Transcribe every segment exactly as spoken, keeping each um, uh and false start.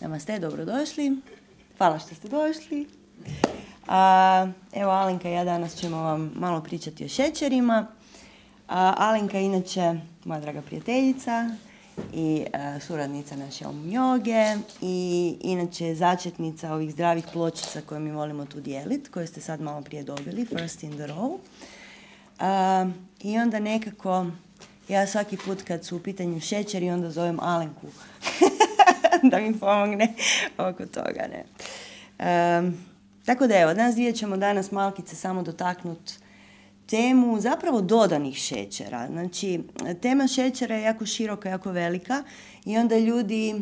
Namaste, dobrodošli. Hvala što ste došli. A, evo, Alenka i ja danas ćemo vam malo pričati o šećerima. A, Alenka je inače moja draga prijateljica i a, suradnica naše Om joge i inače je začetnica ovih zdravih pločica koje mi volimo tu dijeliti, koje ste sad malo prije dobili, first in the row. A, I onda nekako ja svaki put kad su u pitanju šećeri onda zovem Alenku da mi pomogne oko toga. Ne? Um, tako da evo, nas dvije ćemo danas malkice samo dotaknuti temu zapravo dodanih šećera. Znači, tema šećera je jako široka, jako velika i onda ljudi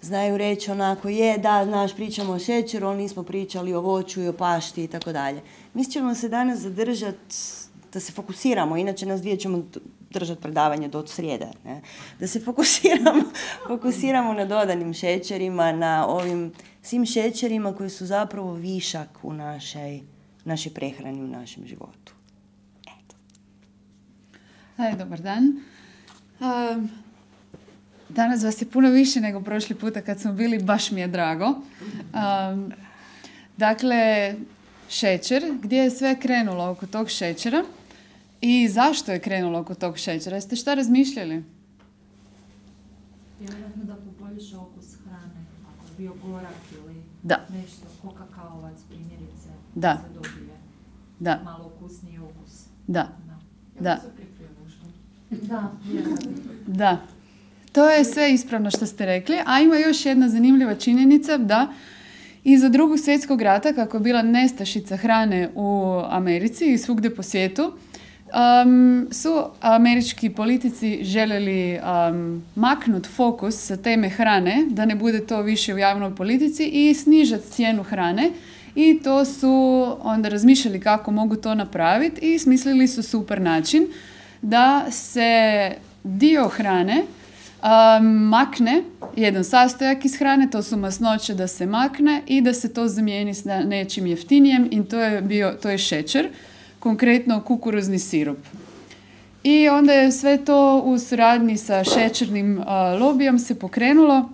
znaju reći onako, je, da, znaš, pričamo o šećeru, ali nismo pričali o voću i o pašti i tako dalje. Mi ćemo se danas zadržati da se fokusiramo, inače nas dvije ćemo držati predavanje do srijede, ne? Da se fokusiramo, fokusiramo na dodanim šećerima, na ovim svim šećerima koji su zapravo višak u našoj, našoj prehrani, u našem životu. Eto. Aj, dobar dan. Um, danas vas je puno više nego prošli puta kad smo bili, baš mi je drago. Um, dakle, šećer, gdje je sve krenulo oko tog šećera i zašto je krenulo oko tog šećera? Jeste šta razmišljali? Vjerojatno da poboljša okus hrane, ako je bio gorak ili da. nešto, ko kakaovac primjerice, da se dobije da. malo ukusniji okus. Da. Da. Da. Da. Da. To je sve ispravno što ste rekli, a ima još jedna zanimljiva činjenica da iza Drugog svjetskog rata, kako je bila nestašica hrane u Americi i svugdje po svijetu, um, su američki politici željeli um, maknuti fokus sa teme hrane, da ne bude to više u javnoj politici i snižati cijenu hrane. I to su onda razmišljali kako mogu to napraviti i smislili su super način da se dio hrane Um, makne, jedan sastojak iz hrane, to su masnoće, da se makne i da se to zamijeni s nečim jeftinijem i to je, bio, to je šećer, konkretno kukuruzni sirup. I onda je sve to u suradnji sa šećernim uh, lobijom se pokrenulo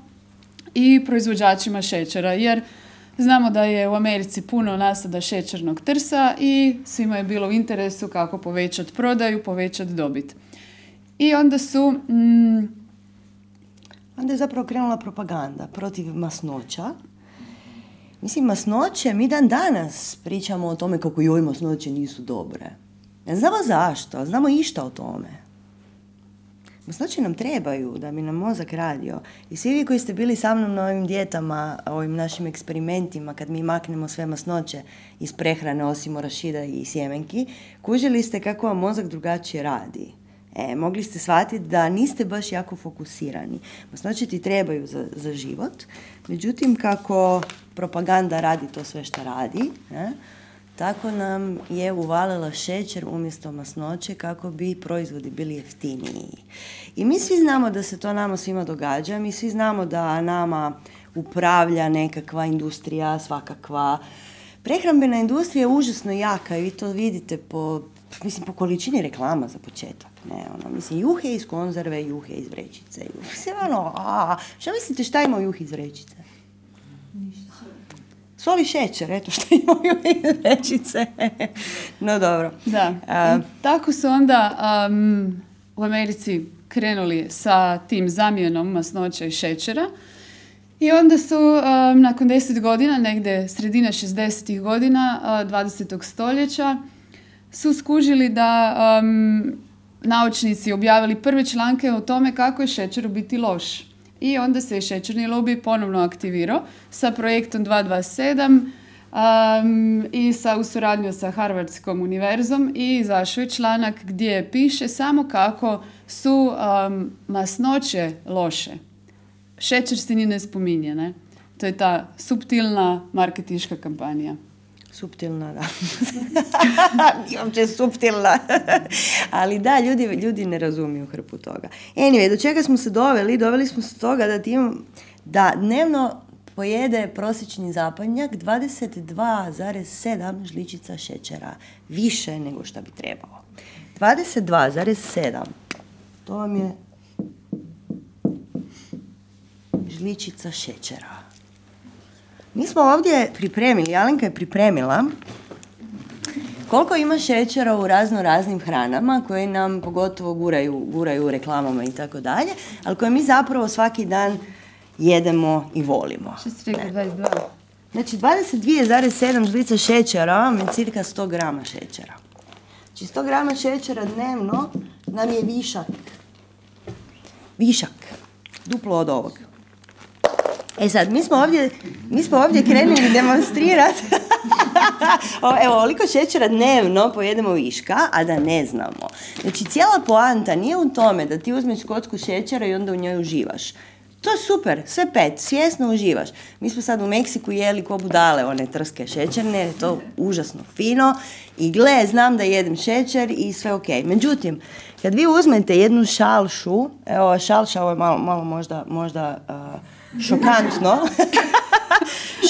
i proizvođačima šećera, jer znamo da je u Americi puno nasada šećernog trsa i svima je bilo u interesu kako povećati prodaju, povećati dobit. I onda su... Mm, Onda je zapravo krenula propaganda protiv masnoća. Mislim, masnoće, mi dan danas pričamo o tome kako joj masnoće nisu dobre. Ne znamo zašto, znamo išta o tome. Masnoće nam trebaju da bi nam mozak radio. I svi vi koji ste bili sa mnom na ovim dijetama, ovim našim eksperimentima, kad mi maknemo sve masnoće iz prehrane, osim orašida i sjemenki, kužili ste kako vam mozak drugačije radi. E, mogli ste shvatiti da niste baš jako fokusirani. Masnoće ti trebaju za, za život, međutim kako propaganda radi to sve što radi, ne, tako nam je uvalila šećer umjesto masnoće kako bi proizvodi bili jeftiniji. I mi svi znamo da se to nama svima događa, mi svi znamo da nama upravlja nekakva industrija, svakakva. Prehrambena industrija je užasno jaka i vi to vidite po, mislim, po količini reklama za početak. Ne, ono, mislim, juhe iz konzerve, juhe iz vrećice. Mislim, ono, a, šta mislite šta ima juhe iz vrećice? Ništa. Sol i šećer, eto šta ima juhe iz vrećice. No, dobro. Da. A, tako su onda um, u Americi krenuli sa tim zamjenom masnoća i šećera. I onda su um, nakon deset godina, negdje sredina šezdesetih godina uh, dvadesetog stoljeća, su skužili da um, naučnici objavili prve članke o tome kako je šećer u biti loš. I onda se je šećerni lobij ponovno aktivirao sa projektom dva dva sedam um, i sa, u suradnju sa Harvardskom univerzom i izašao je članak gdje piše samo kako su um, masnoće loše. Šećer se ni ne spominje, ne? To je ta suptilna marketinška kampanja. Suptilna, da. Nije uopće suptilna. Ali da, ljudi, ljudi ne razumiju hrpu toga. Anyway, do čega smo se doveli? Doveli smo se toga da, tim, da dnevno pojede prosječni zapadnjak dvadeset dva zarez sedam žličica šećera. Više nego što bi trebalo. dvadeset dva zarez sedam. To vam je žličica šećera. Mi smo ovdje pripremili, Alenka je pripremila koliko ima šećera u razno raznim hranama koje nam pogotovo guraju, guraju u reklamama i tako dalje, ali koje mi zapravo svaki dan jedemo i volimo. Što si rekao, dvadeset dva? Znači dvadeset dva zarez sedam žlica šećera vam je cirka sto grama šećera. Znači sto grama šećera dnevno nam je višak. Višak. Duplo od ovog. E sad, mi smo ovdje, mi smo ovdje krenuli demonstrirati. Evo, ovoliko šećera dnevno pojedemo viška, a da ne znamo. Znači, cijela poanta nije u tome da ti uzmeš kocku šećera i onda u njoj uživaš. To je super, sve pet, svjesno uživaš. Mi smo sad u Meksiku jeli ko budale one trske šećerne, je to užasno fino. I gle, znam da jedem šećer i sve ok. Međutim, kad vi uzmete jednu šalšu, evo šalša, ovo je malo, malo možda, možda uh, šokantno.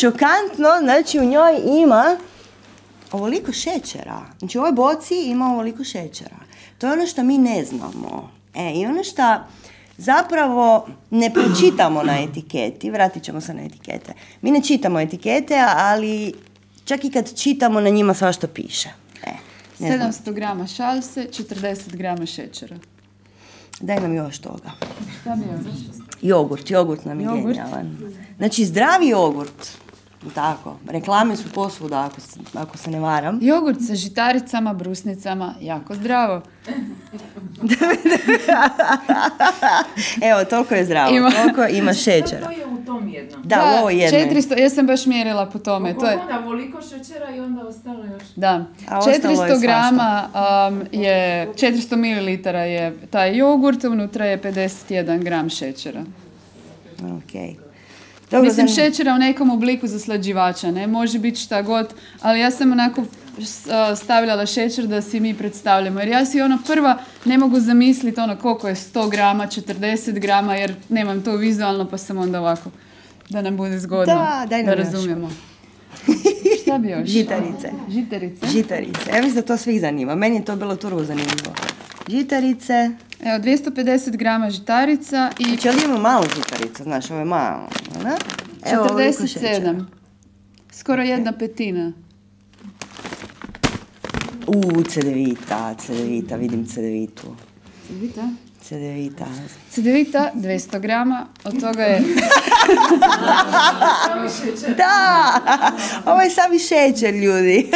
Šokantno, znači u njoj ima ovoliko šećera. Znači u ovoj boci ima ovoliko šećera. To je ono što mi ne znamo. E, i ono što zapravo ne pročitamo na etiketi, vratit ćemo se na etikete. Mi ne čitamo etikete, ali čak i kad čitamo na njima svašta piše. E, sedamsto grama šalse, četrdeset grama šećera. Daj nam još toga. Šta bi još? Jogurt, jogurt nam je genijalan. Znači zdravi jogurt. Tako, reklame su posvuda ako se, ako se ne varam. Jogurt sa žitaricama, brusnicama, jako zdravo. Evo, toliko je zdravo, ima. Toliko ima šećera. To je u tom jednom. Da, da, ovo jedno. četiristo, ja sam baš mjerila po tome. Koliko to je onda voliko šećera i onda ostalo još? Da, četiristo grama um, je, četiristo mililitara je taj jogurt, unutra je pedeset jedan gram šećera. Ok. Dobro, Mislim, znam... šećera u nekom obliku zaslađivača, ne? Može biti šta god, ali ja sam onako stavljala šećer da si mi predstavljamo. Jer ja si ono prva ne mogu zamisliti ono koliko je sto grama, četrdeset grama, jer nemam to vizualno, pa sam onda ovako, da nam bude zgodno, da, daj nam da razumijemo. Šta bi još? Žitarice. Žitarice? Žitarice. Ja mislim da to svih zanima. Meni je to bilo turbo zanimljivo. Žitarice. Evo, dvjesto pedeset grama žitarica i... Znači, ovdje imamo malu žitaricu, znaš, ovo je malo. Ne? Evo, četrdeset sedam. Skoro jedna petina. U, cedevita, cedevita, vidim cedevitu. Cedevita? Cedevita. Cedevita, dvjesto grama, od toga je... Da, ovo je sami šećer, ljudi.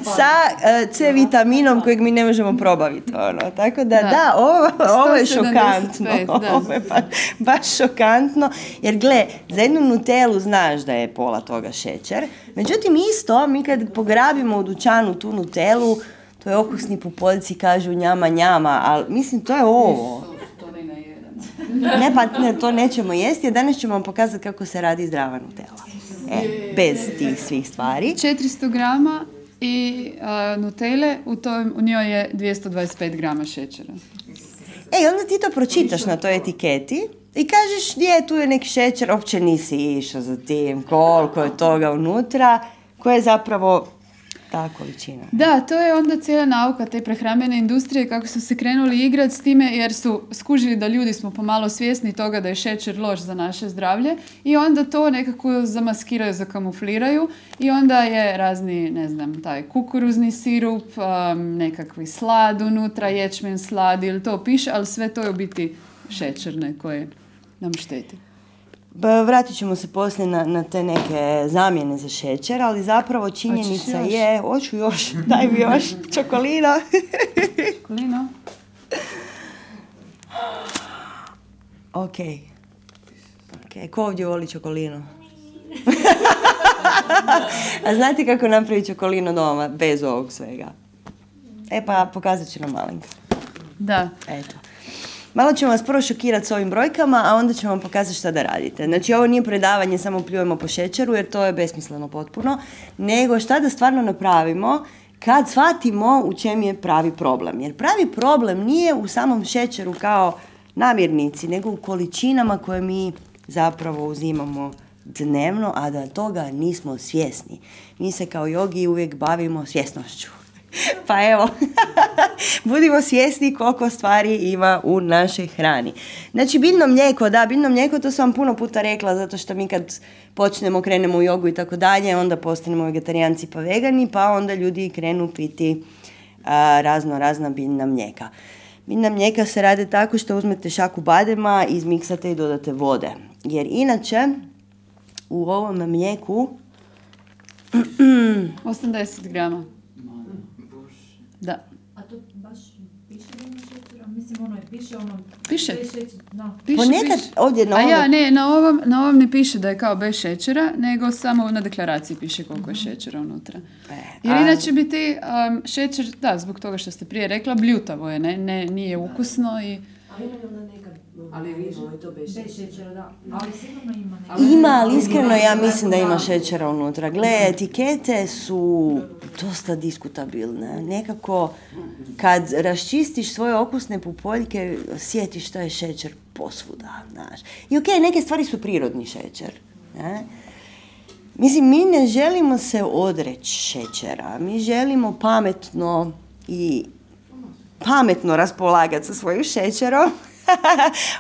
Sa uh, C vitaminom kojeg mi ne možemo probaviti. Ono. Tako da, da, da ovo, ovo je šokantno. Da. Ovo je baš, baš šokantno. Jer, gle, za jednu Nutellu znaš da je pola toga šećer. Međutim, isto, mi kad pograbimo u dućanu tu Nutellu, to je okusni pupoljci, kažu njama, njama, ali mislim, to je ovo. Ne, pa ne, to nećemo jesti, a danas ćemo vam pokazati kako se radi zdrava Nutella. E, bez tih svih stvari. četiristo grama i uh, Nutelle, u, toj, u njoj je dvjesto dvadeset pet grama šećera. E, onda ti to pročitaš na toj etiketi i kažeš gdje je tu je neki šećer, uopće nisi išao za tim, koliko je toga unutra, koja je zapravo ta količina. Da, to je onda cijela nauka te prehrambene industrije, kako su se krenuli igrati s time, jer su skužili da ljudi smo pomalo svjesni toga da je šećer loš za naše zdravlje i onda to nekako zamaskiraju, zakamufliraju i onda je razni, ne znam, taj kukuruzni sirup, um, nekakvi slad unutra, ječmen slad ili to piše, ali sve to je u biti šećerne koje nam šteti. Vratit ćemo se poslije na, na te neke zamjene za šećer, ali zapravo činjenica je... Hoću još, daj mi još, čokolino. Čokolino. Ok. Ok, ko ovdje voli čokolino? A znate kako napraviti čokolino doma, bez ovog svega? E pa, pokazat ću nam Alenka. Da. Eto. Malo ćemo vas prvo šokirati s ovim brojkama, a onda ćemo vam pokazati šta da radite. Znači, ovo nije predavanje, samo pljujemo po šećeru, jer to je besmisleno potpuno, nego šta da stvarno napravimo kad shvatimo u čem je pravi problem. Jer pravi problem nije u samom šećeru kao namirnici, nego u količinama koje mi zapravo uzimamo dnevno, a da toga nismo svjesni. Mi se kao jogi uvijek bavimo svjesnošću. Pa evo, budimo svjesni koliko stvari ima u našoj hrani. Znači, biljno mlijeko, da, biljno mlijeko, to sam vam puno puta rekla, zato što mi kad počnemo, krenemo u jogu i tako dalje, onda postanemo vegetarijanci pa vegani, pa onda ljudi krenu piti a, razno razna biljna mlijeka. Biljna mlijeka se rade tako što uzmete šaku badema, izmiksate i dodate vode. Jer inače, u ovom mlijeku osamdeset grama. Da. A to baš piše da ima šećera? Mislim, ono je, piše ono... Piše. Bez šećera, no. Piše, ponekad piše. ovdje na A ovom... ja, ne, na ovom, na ovom ne piše da je kao bez šećera, nego samo na deklaraciji piše koliko je šećera unutra. E, Jer a- inače bi ti um, šećer, da, zbog toga što ste prije rekla, bljutavo je, ne, ne, nije ukusno i... Ali ima onda nekad, ali vino i to bez Bez šećera. šećera, da. Ali sigurno ima neka. Ali- Ima, ali iskreno ja mislim da ima šećera unutra. Gle, etikete su dosta diskutabilne. Nekako, kad raščistiš svoje okusne pupoljke, sjetiš što je šećer posvuda, znaš. I okej, neke stvari su prirodni šećer, ne? Mislim, mi ne želimo se odreći šećera. Mi želimo pametno i pametno raspolagati sa svojim šećerom.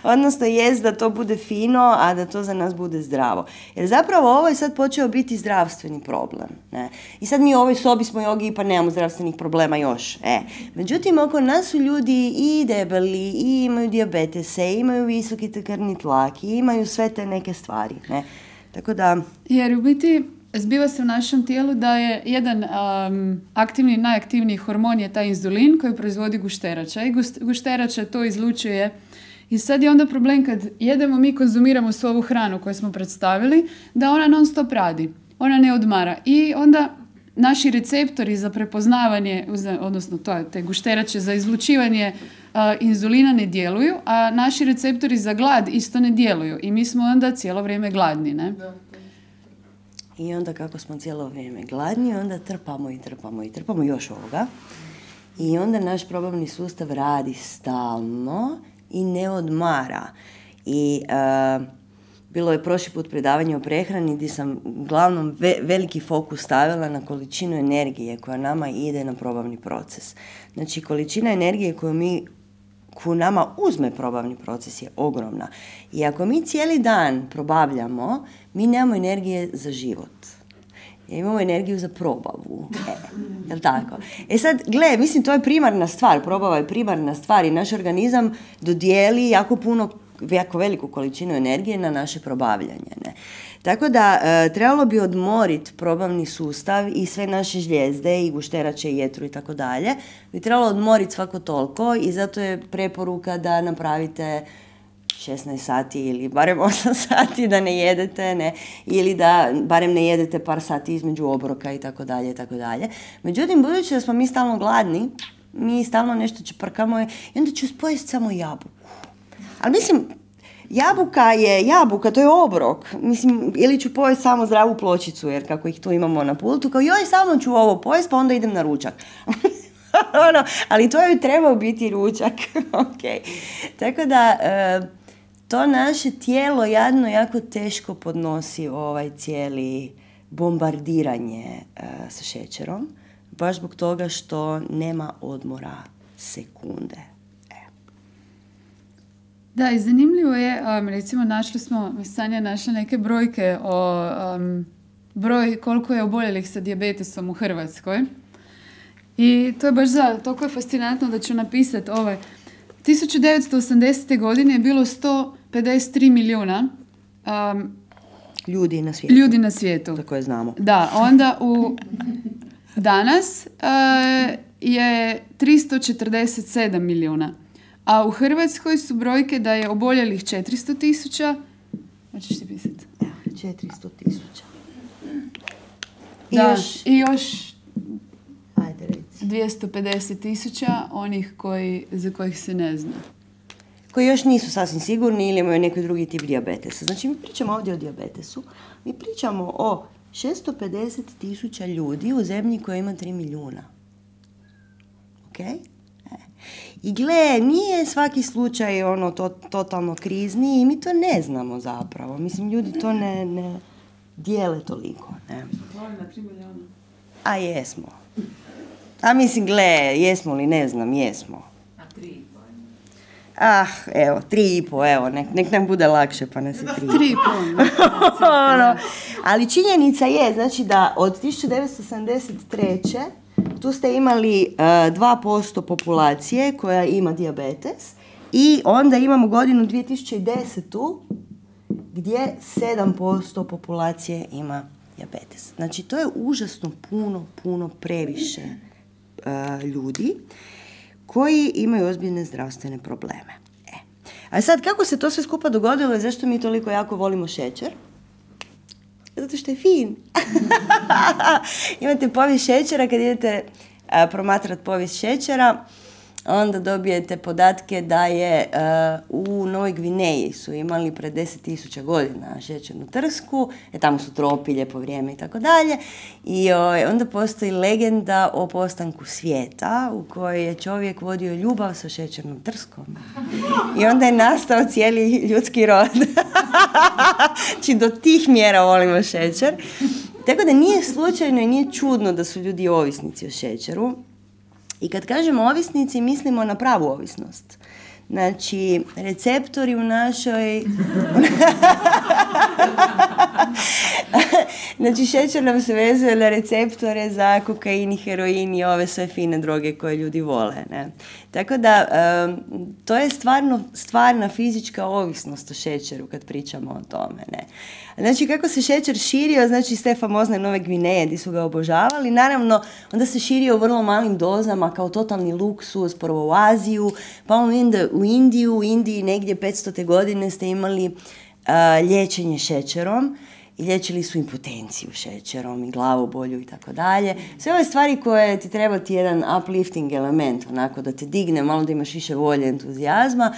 Odnosno jest da to bude fino, a da to za nas bude zdravo. Jer zapravo ovo je sad počeo biti zdravstveni problem. Ne? I sad mi u ovoj sobi smo jogi pa nemamo zdravstvenih problema još. E. Međutim, oko nas su ljudi i debeli, i imaju dijabetese, i imaju visoki krvni tlak, i imaju sve te neke stvari. Ne? Tako da... Jer u biti zbiva se u našem tijelu da je jedan um, aktivni, najaktivniji hormon je taj inzulin koji proizvodi gušterača i gust- gušterača to izlučuje. I sad je onda problem kad jedemo, mi konzumiramo svu ovu hranu koju smo predstavili, da ona non stop radi, ona ne odmara. I onda naši receptori za prepoznavanje, odnosno to, te gušterače za izlučivanje uh, inzulina ne djeluju, a naši receptori za glad isto ne djeluju. I mi smo onda cijelo vrijeme gladni, ne? I onda kako smo cijelo vrijeme gladni, onda trpamo i trpamo i trpamo još ovoga. I onda naš probavni sustav radi stalno i ne odmara. I uh, bilo je prošli put predavanje o prehrani gdje sam uglavnom ve- veliki fokus stavila na količinu energije koja nama ide na probavni proces. Znači, količina energije koju mi koju nama uzme probavni proces je ogromna. I ako mi cijeli dan probavljamo, mi nemamo energije za život. Jer imamo energiju za probavu. E, jel tako? E sad, gle, mislim, to je primarna stvar. Probava je primarna stvar i naš organizam dodijeli jako puno, jako veliku količinu energije na naše probavljanje. Ne? Tako da, e, trebalo bi odmoriti probavni sustav i sve naše žljezde i gušterače i jetru i tako dalje. Bi trebalo odmoriti svako toliko i zato je preporuka da napravite šesnaest sati ili barem osam sati da ne jedete, ne, ili da barem ne jedete par sati između obroka i tako dalje i tako dalje. Međutim, budući da smo mi stalno gladni, mi stalno nešto čeprkamo i onda ću pojesti samo jabuku. Ali mislim, jabuka je jabuka, to je obrok. Mislim, ili ću pojesti samo zdravu pločicu, jer kako ih tu imamo na pultu, kao joj, samo ću ovo pojesti, pa onda idem na ručak. ono, ali to je trebao biti ručak. Okay. Tako da, e, to naše tijelo jadno jako teško podnosi ovaj cijeli bombardiranje e, sa šećerom, baš zbog toga što nema odmora sekunde. Da, i zanimljivo je, um, recimo našli smo, Sanja je našla neke brojke o um, broj koliko je oboljelih sa dijabetesom u Hrvatskoj. I to je baš za, toliko je fascinantno da ću napisati ovaj. tisuću devetsto osamdesete. godine je bilo sto pedeset tri milijuna um, Ljudi na svijetu. ljudi na svijetu. Za koje znamo. Da, onda u danas uh, je tristo četrdeset sedam milijuna. A u Hrvatskoj su brojke da je oboljelih četiristo tisuća. Hoćeš ti pisati? četiristo tisuća. I Da, još... i još Ajde, reci. dvjesto pedeset tisuća onih koji, za kojih se ne zna. Koji još nisu sasvim sigurni ili imaju neki drugi tip dijabetesa. Znači, mi pričamo ovdje o dijabetesu. Mi pričamo o šesto pedeset tisuća ljudi u zemlji koja ima tri milijuna. Ok? E. I gle, nije svaki slučaj ono to, totalno krizni i mi to ne znamo zapravo. Mislim, ljudi to ne, ne dijele toliko. Ne? Hvala na tri milijuna. A jesmo. A mislim, gle, jesmo li, ne znam, jesmo. A tri i po. Ah, evo, tri i po, evo, nek, nek nam bude lakše, pa nas je tri. Tri i po. Ono, ali činjenica je, znači da od tisuću devetsto sedamdeset treće tu ste imali uh, dva posto populacije koja ima dijabetes i onda imamo godinu dvije tisuće desetu gdje sedam posto populacije ima dijabetes. Znači, to je užasno puno, puno previše uh, ljudi koji imaju ozbiljne zdravstvene probleme. E. A sad, kako se to sve skupa dogodilo i zašto mi toliko jako volimo šećer? Zato što je fin. Imate povijest šećera, kad idete a, promatrati povijest šećera, onda dobijete podatke da je a, u Novoj Gvineji su imali pred deset tisuća godina šećernu trsku, e, tamo su tropi, lijepo vrijeme i tako dalje. I o, onda postoji legenda o postanku svijeta u kojoj je čovjek vodio ljubav sa šećernom trskom. I onda je nastao cijeli ljudski rod. Znači, do tih mjera volimo šećer. Tako da nije slučajno i nije čudno da su ljudi ovisnici o šećeru. I kad kažemo ovisnici, mislimo na pravu ovisnost. Znači, receptori u našoj... Znači, šećer nam se vezuje na receptore za kokain i heroin i ove sve fine droge koje ljudi vole. Ne? Tako da, um, to je stvarno stvarna fizička ovisnost o šećeru kad pričamo o tome. Ne? Znači, kako se šećer širio, znači iz te famozne Nove Gvineje gdje su ga obožavali, naravno, onda se širio u vrlo malim dozama kao totalni luksuz, prvo u Aziju, pa onda u Indiju, u Indiji negdje petstote godine ste imali uh, liječenje šećerom i liječili su impotenciju šećerom i glavobolju i tako dalje. Sve ove stvari koje ti treba ti jedan uplifting element, onako da te digne, malo da imaš više volje, entuzijazma,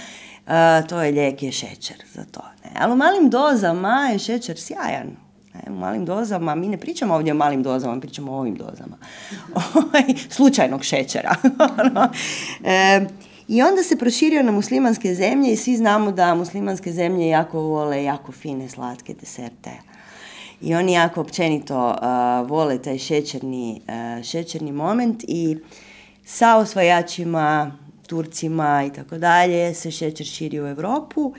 uh, to je lijek, je šećer za to. Ne? Ali u malim dozama je šećer sjajan. Ne? U malim dozama, mi ne pričamo ovdje o malim dozama, mi pričamo o ovim dozama. Slučajnog šećera. e, I onda se proširio na muslimanske zemlje i svi znamo da muslimanske zemlje jako vole jako fine, slatke deserte. I oni jako općenito uh, vole taj šećerni, uh, šećerni moment i sa osvajačima, Turcima i tako dalje se šećer širi u Europu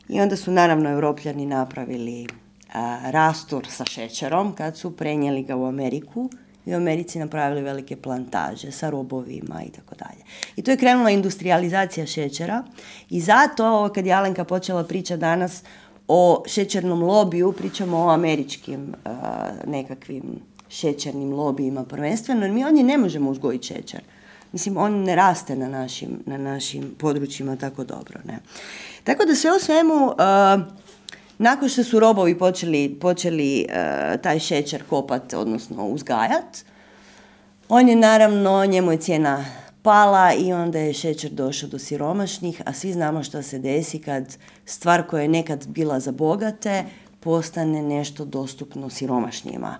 i onda su naravno Europljani napravili uh, rastur sa šećerom kad su prenijeli ga u Ameriku i u Americi napravili velike plantaže sa robovima i tako dalje. I to je krenula industrializacija šećera i zato kad je Alenka počela pričati danas o šećernom lobiju, pričamo o američkim uh, nekakvim šećernim lobijima prvenstveno, jer mi ovdje ne možemo uzgojiti šećer. Mislim, on ne raste na našim, na našim područjima tako dobro. Ne? Tako da sve u svemu, uh, nakon što su robovi počeli, počeli uh, taj šećer kopati, odnosno uzgajati, on je naravno, njemu je cijena pala i onda je šećer došao do siromašnih, a svi znamo što se desi kad stvar koja je nekad bila za bogate postane nešto dostupno siromašnjima.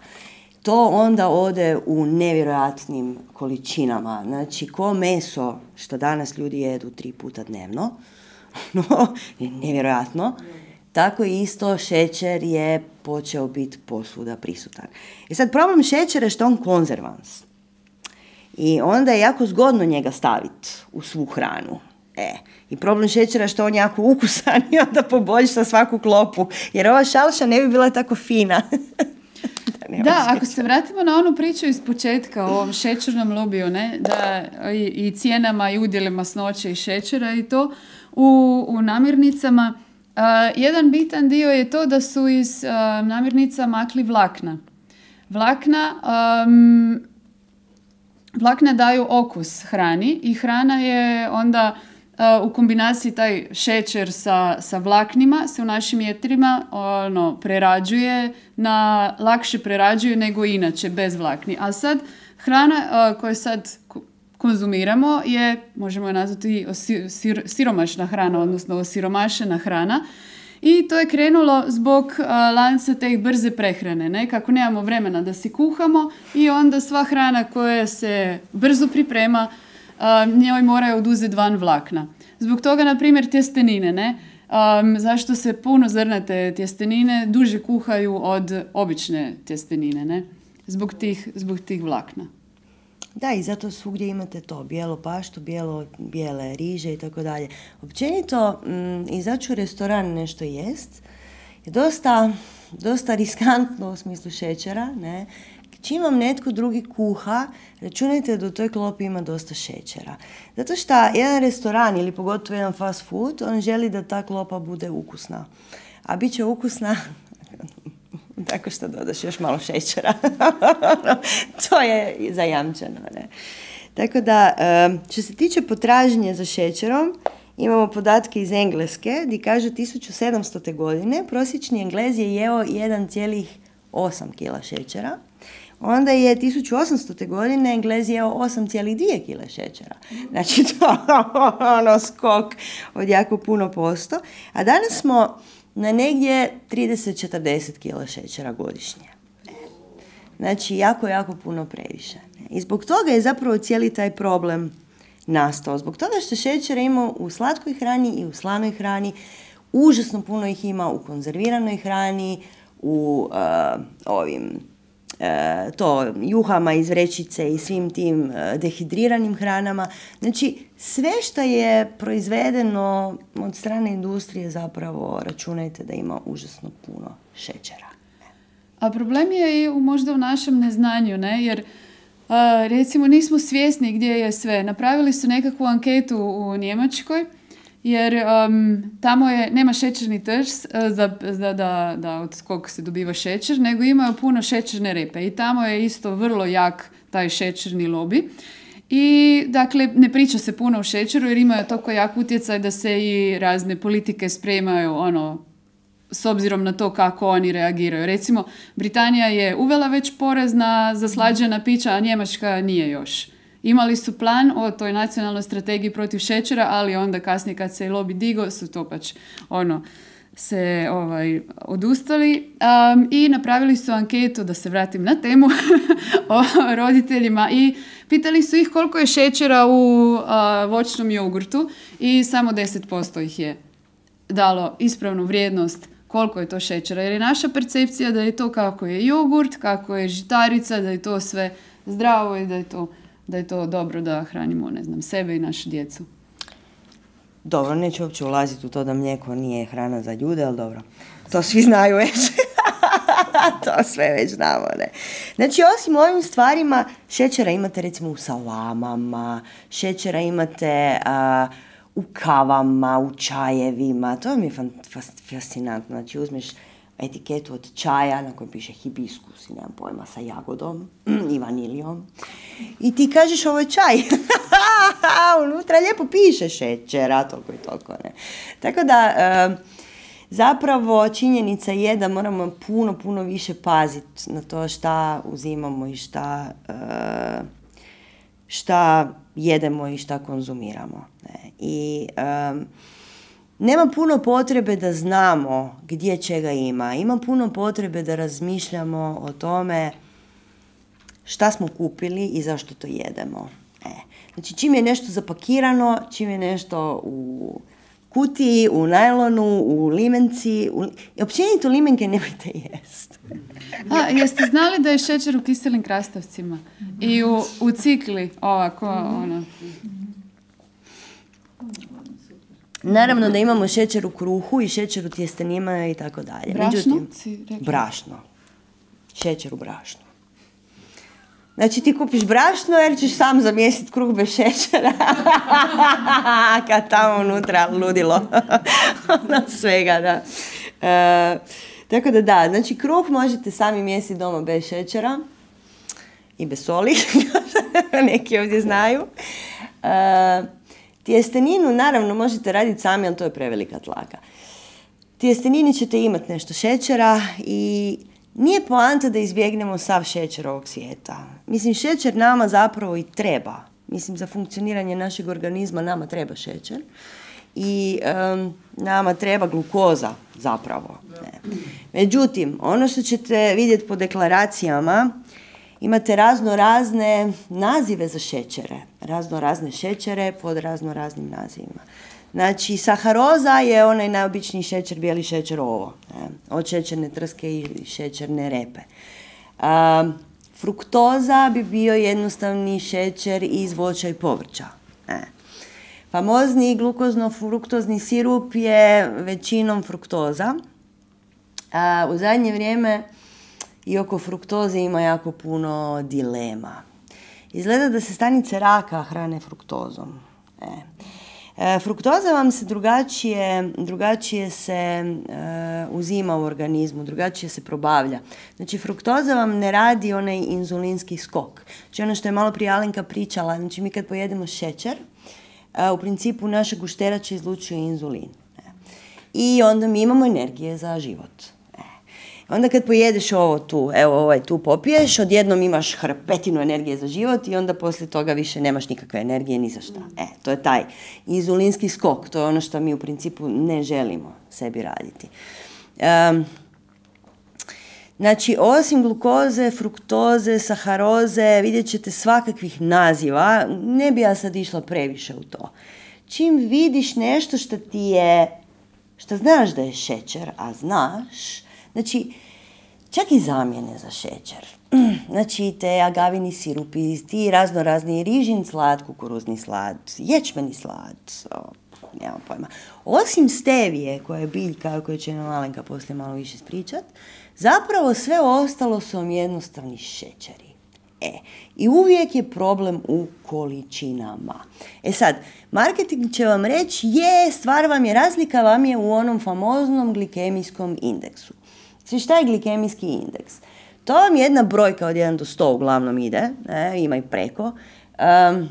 To onda ode u nevjerojatnim količinama. Znači, ko meso, što danas ljudi jedu tri puta dnevno, no, je nevjerojatno, tako isto šećer je počeo biti posvuda prisutan. I sad problem šećera je što on konzervans. I onda je jako zgodno njega staviti u svu hranu. E, i problem šećera je što on jako ukusan i onda poboljša svaku klopu. Jer ova šalša ne bi bila tako fina. da, da ako se vratimo na onu priču iz početka o ovom šećernom lobiju, ne, da i, i cijenama i udjelima masnoće i šećera i to u, u namirnicama, uh, jedan bitan dio je to da su iz uh, namirnica makli vlakna. Vlakna... Um, Vlakna daju okus hrani i hrana je onda uh, u kombinaciji taj šećer sa, sa vlaknima se u našim jetrima ono, prerađuje, na, lakše prerađuje nego inače bez vlakni. A sad hrana uh, koju sad konzumiramo je, možemo je nazvati osir, sir, siromašna hrana, odnosno osiromašena hrana. I to je krenulo zbog uh, lanca te brze prehrane, ne? Kako nemamo vremena da si kuhamo i onda sva hrana koja se brzo priprema, uh, njoj moraju oduzeti van vlakna. Zbog toga, na primjer, tjestenine, ne? Um, zašto se puno zrnate tjestenine duže kuhaju od obične tjestenine, ne? Zbog tih, zbog tih vlakna. Da, i zato svugdje imate to, bijelo paštu, bijelo, bijele riže i tako dalje. Općenito, m, izaći u restoran nešto jest je dosta, dosta riskantno u smislu šećera, ne? Čim vam netko drugi kuha, računajte da u toj klopi ima dosta šećera. Zato što jedan restoran ili pogotovo jedan fast food, on želi da ta klopa bude ukusna. A bit će ukusna tako što dodaš još malo šećera. To je zajamčeno. Ne? Tako da, što se tiče potražnje za šećerom, imamo podatke iz Engleske gdje kaže tisuću sedamstote. godine prosječni Englez je jeo jedan zarez osam kila šećera. Onda je tisuću osamstote. godine Englez jeo osam zarez dvije kila šećera. Znači to ono skok od jako puno posto. A danas smo na negdje trideset do četrdeset kila šećera godišnje. Znači jako, jako puno previše. I zbog toga je zapravo cijeli taj problem nastao. Zbog toga što šećera ima u slatkoj hrani i u slanoj hrani. Užasno puno ih ima u konzerviranoj hrani, u uh, ovim to juhama iz vrećice i svim tim uh, dehidriranim hranama. Znači, sve što je proizvedeno od strane industrije zapravo računajte da ima užasno puno šećera. A problem je i u, možda u našem neznanju, ne? Jer uh, recimo nismo svjesni gdje je sve. Napravili su nekakvu anketu u Njemačkoj, jer um, tamo je, nema šećerni trž uh, za, za, da, da od kog se dobiva šećer, nego imaju puno šećerne repe i tamo je isto vrlo jak taj šećerni lobby. I dakle, ne priča se puno o šećeru jer imaju toliko jak utjecaj da se i razne politike spremaju ono, s obzirom na to kako oni reagiraju. Recimo, Britanija je uvela već porez na zaslađena pića, a Njemačka nije još. Imali su plan o toj nacionalnoj strategiji protiv šećera, ali onda kasnije kad se je lobby digo, su to pač ono, se ovaj, odustali um, i napravili su anketu, da se vratim na temu, o roditeljima i pitali su ih koliko je šećera u uh, voćnom jogurtu i samo deset posto ih je dalo ispravnu vrijednost koliko je to šećera. Jer je naša percepcija da je to kako je jogurt, kako je žitarica, da je to sve zdravo i da je to da je to dobro da hranimo, ne znam, sebe i našu djecu. Dobro, neću uopće ulaziti u to da mlijeko nije hrana za ljude, ali dobro. To svi znaju već. To sve već znamo, ne. Znači, osim ovim stvarima, šećera imate recimo u salamama, šećera imate a, u kavama, u čajevima. To mi je fascinantno. Znači, uzmeš etiketu od čaja na kojoj piše hibiskus i nemam pojma sa jagodom i vanilijom. I ti kažeš ovo je čaj. Unutra lijepo piše šećera, toliko i toliko. Ne? Tako da e, zapravo činjenica je da moramo puno, puno više paziti na to šta uzimamo i šta, e, šta jedemo i šta konzumiramo. Ne? I e, nema puno potrebe da znamo gdje čega ima. Ima puno potrebe da razmišljamo o tome šta smo kupili i zašto to jedemo. E. Znači, čim je nešto zapakirano, čim je nešto u kutiji, u najlonu, u limenci, u... općenito limenke nemojte jest. A, jeste znali da je šećer u kiselim krastavcima? I u, u cikli, ovako, ono... Naravno da imamo šećer u kruhu i šećer u tjestenima i tako dalje. Brašno? Međutim, brašno. Šećer u brašnu. Znači ti kupiš brašno jer ćeš sam zamjesiti kruh bez šećera. Kad tamo unutra ludilo. Ono svega, da. E, tako da da, znači kruh možete sami mjesiti doma bez šećera i bez soli. Neki ovdje znaju. E, Tjesteninu, naravno, možete raditi sami, ali to je prevelika tlaka. Tjestenini ćete imati nešto šećera i nije poanta da izbjegnemo sav šećer ovog svijeta. Mislim, šećer nama zapravo i treba. Mislim, za funkcioniranje našeg organizma nama treba šećer. I um, nama treba glukoza zapravo. Ne. Međutim, ono što ćete vidjeti po deklaracijama, imate razno razne nazive za šećere. Razno razne šećere pod razno raznim nazivima. Znači, saharoza je onaj najobičniji šećer, bijeli šećer ovo. Ne? Od šećerne trske i šećerne repe. Um, Fruktoza bi bio jednostavni šećer iz voća i povrća. E. Famozni glukozno-fruktozni sirup je većinom fruktoza. A u zadnje vrijeme i oko fruktoze ima jako puno dilema. Izgleda da se stanice raka hrane fruktozom. E. E, fruktoza vam se drugačije, drugačije se e, uzima u organizmu, drugačije se probavlja. Znači, fruktoza vam ne radi onaj inzulinski skok. Znači, ono što je malo prije Alenka pričala, znači mi kad pojedemo šećer, e, u principu naša gušterača izlučuje inzulin. E. I onda mi imamo energije za život. Onda kad pojedeš ovo tu, evo ovaj tu popiješ, odjednom imaš hrpetinu energije za život i onda poslije toga više nemaš nikakve energije ni za šta. E, to je taj inzulinski skok, to je ono što mi u principu ne želimo sebi raditi. Um, znači, osim glukoze, fruktoze, saharoze, vidjet ćete svakakvih naziva, ne bi ja sad išla previše u to. Čim vidiš nešto što ti je, što znaš da je šećer, a znaš, znači, čak i zamjene za šećer. Znači, te agavini sirupi, ti razno razni rižin slad, kukuruzni slad, ječmeni slad, o, nemam pojma. Osim stevije, koja je biljka, koju će nam Alenka poslije malo više ispričat, zapravo sve ostalo su vam jednostavni šećeri. E, i uvijek je problem u količinama. E sad, marketing će vam reći, je, stvar vam je, razlika vam je u onom famoznom glikemijskom indeksu. Znači, šta je glikemijski indeks? To vam je jedna brojka od jedan do sto uglavnom ide, ne, ima i preko, um,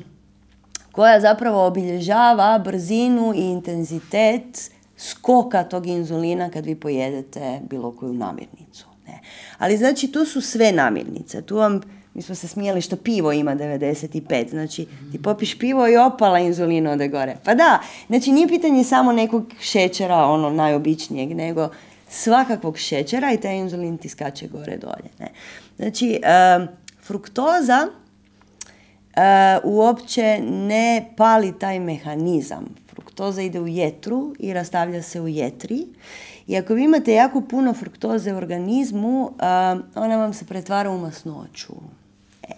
koja zapravo obilježava brzinu i intenzitet skoka tog inzulina kad vi pojedete bilo koju namirnicu. Ne. Ali znači, tu su sve namirnice. Tu vam, mi smo se smijeli što pivo ima devedeset pet, znači ti popiš pivo i opala inzulina ode gore. Pa da, znači nije pitanje samo nekog šećera, ono najobičnijeg, nego svakakvog šećera i taj inzulin ti skače gore dolje. Ne. Znači, uh, fruktoza uh, uopće ne pali taj mehanizam. Fruktoza ide u jetru i rastavlja se u jetri. I ako vi imate jako puno fruktoze u organizmu, uh, ona vam se pretvara u masnoću. E.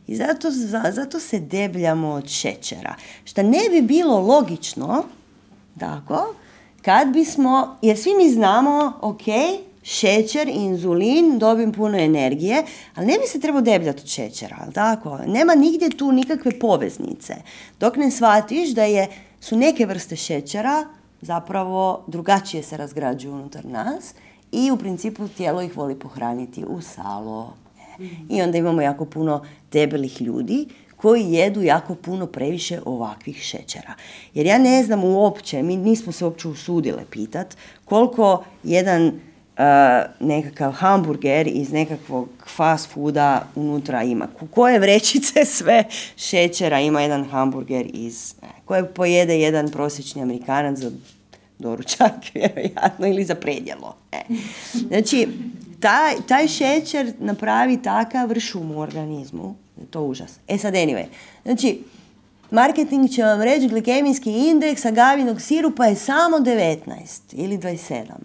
I zato, zato se debljamo od šećera. Što ne bi bilo logično, tako, kad bismo, jer svi mi znamo, ok, šećer, inzulin, dobim puno energije, ali ne bi se trebao debljati od šećera, ali tako? Nema nigdje tu nikakve poveznice. Dok ne shvatiš da je, su neke vrste šećera zapravo drugačije se razgrađuju unutar nas i u principu tijelo ih voli pohraniti u salo. I onda imamo jako puno debelih ljudi koji jedu jako puno previše ovakvih šećera. Jer ja ne znam uopće, mi nismo se uopće usudile pitat koliko jedan uh, nekakav hamburger iz nekakvog fast fooda unutra ima. Koje vrećice sve šećera ima jedan hamburger iz, koje pojede jedan prosječni Amerikanac za doručak, vjerojatno, ili za predjelo. E. Znači, taj, taj šećer napravi takav šum u organizmu. To je užas. E sad, anyway. Znači, marketing će vam reći glikemijski indeks agavinog sirupa je samo devetnaest ili dvadeset sedam.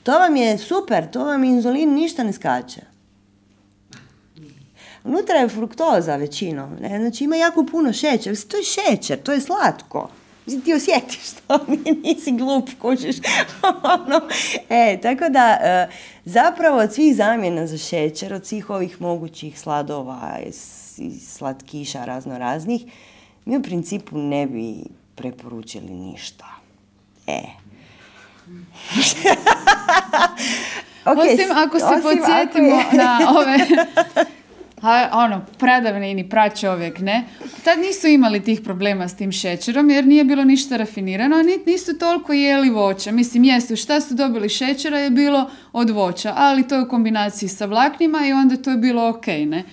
To vam je super, to vam inzulin ništa ne skače. Unutra je fruktoza većinom. Ne? Znači, ima jako puno šećera. To je šećer, to je slatko. Ti osjetiš to, nisi glup, kužiš. e, tako da, zapravo od svih zamjena za šećer, od svih ovih mogućih sladova i slatkiša razno raznih, mi u principu ne bi preporučili ništa. E. okay, osim ako se osim podsjetimo ako je... na ove... A, ono, pradavnini, pračovjek, ne? Tad nisu imali tih problema s tim šećerom jer nije bilo ništa rafinirano, a nisu toliko jeli voća. Mislim, jesu, šta su dobili šećera je bilo od voća, ali to je u kombinaciji sa vlaknima i onda to je bilo ok, ne?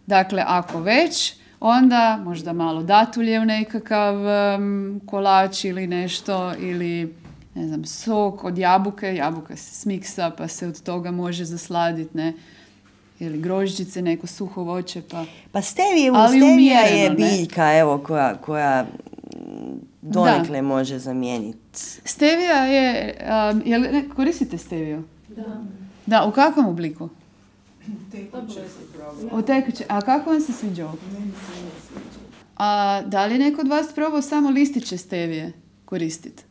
Dakle, ako već, onda možda malo datulje u nekakav um, kolač ili nešto, ili ne znam, sok od jabuke, jabuka se smiksa pa se od toga može zasladiti, ne? Ili grožđice, neko suho voće, pa... Pa stevije, stevija je biljka, ne? Evo, koja, koja donekle da. Može zamijeniti. Stevija je... Um, jel, ne, koristite steviju? Da. Da, u kakvom obliku? O tekuće. A kako vam se sviđa okus? A da li je neko od vas probao samo listiće stevije koristiti?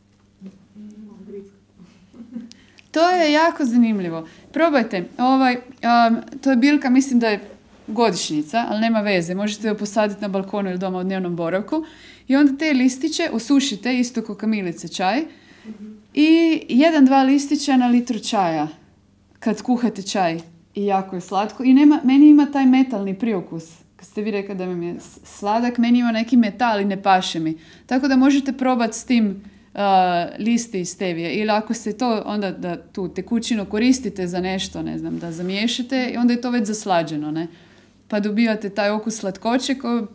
To je jako zanimljivo. Probajte. Ovaj, um, to je biljka, mislim da je godišnjica, ali nema veze. Možete ju posaditi na balkonu ili doma u dnevnom boravku. I onda te listiće osušite, isto kao kamilice čaj. I jedan, dva listića na litru čaja. Kad kuhate čaj. I jako je slatko. I nema, meni ima taj metalni priokus. Kad ste vi rekli da mi je sladak, meni ima neki metal i ne paše mi. Tako da možete probati s tim uh, listi iz stevije. Ili ako se to, onda da tu tekućinu koristite za nešto, ne znam, da zamiješate, i onda je to već zaslađeno, ne? Pa dobivate taj okus slatkoće ko,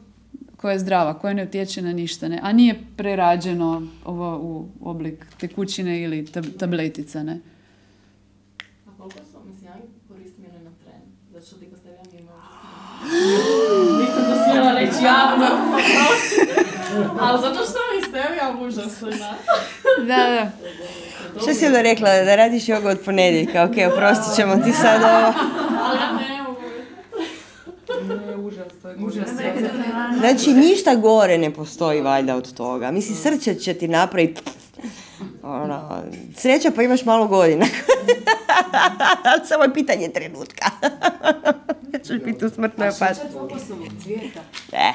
koja je zdrava, koja ne utječe na ništa, ne? A nije prerađeno ovo u oblik tekućine ili tab, tabletica, ne? A koliko su, mislim, ja koristim jedno na tren, zato što ti postavljam je možda. Nisam to smjela reći javno, ali zato što mi stevija užasna. Da, da. Što si onda rekla, da radiš jogu od ponedjeljka? Ok, oprostit ćemo ti sad ovo. Ali ja ne mogu. Ne, užasno. Užasno. Znači, ništa gore ne postoji valjda od toga. Mislim, srce će ti napraviti... Ono, sreća pa imaš malo godina. Samo je pitanje trenutka. Češ biti u smrtnoj opasnosti. Eh.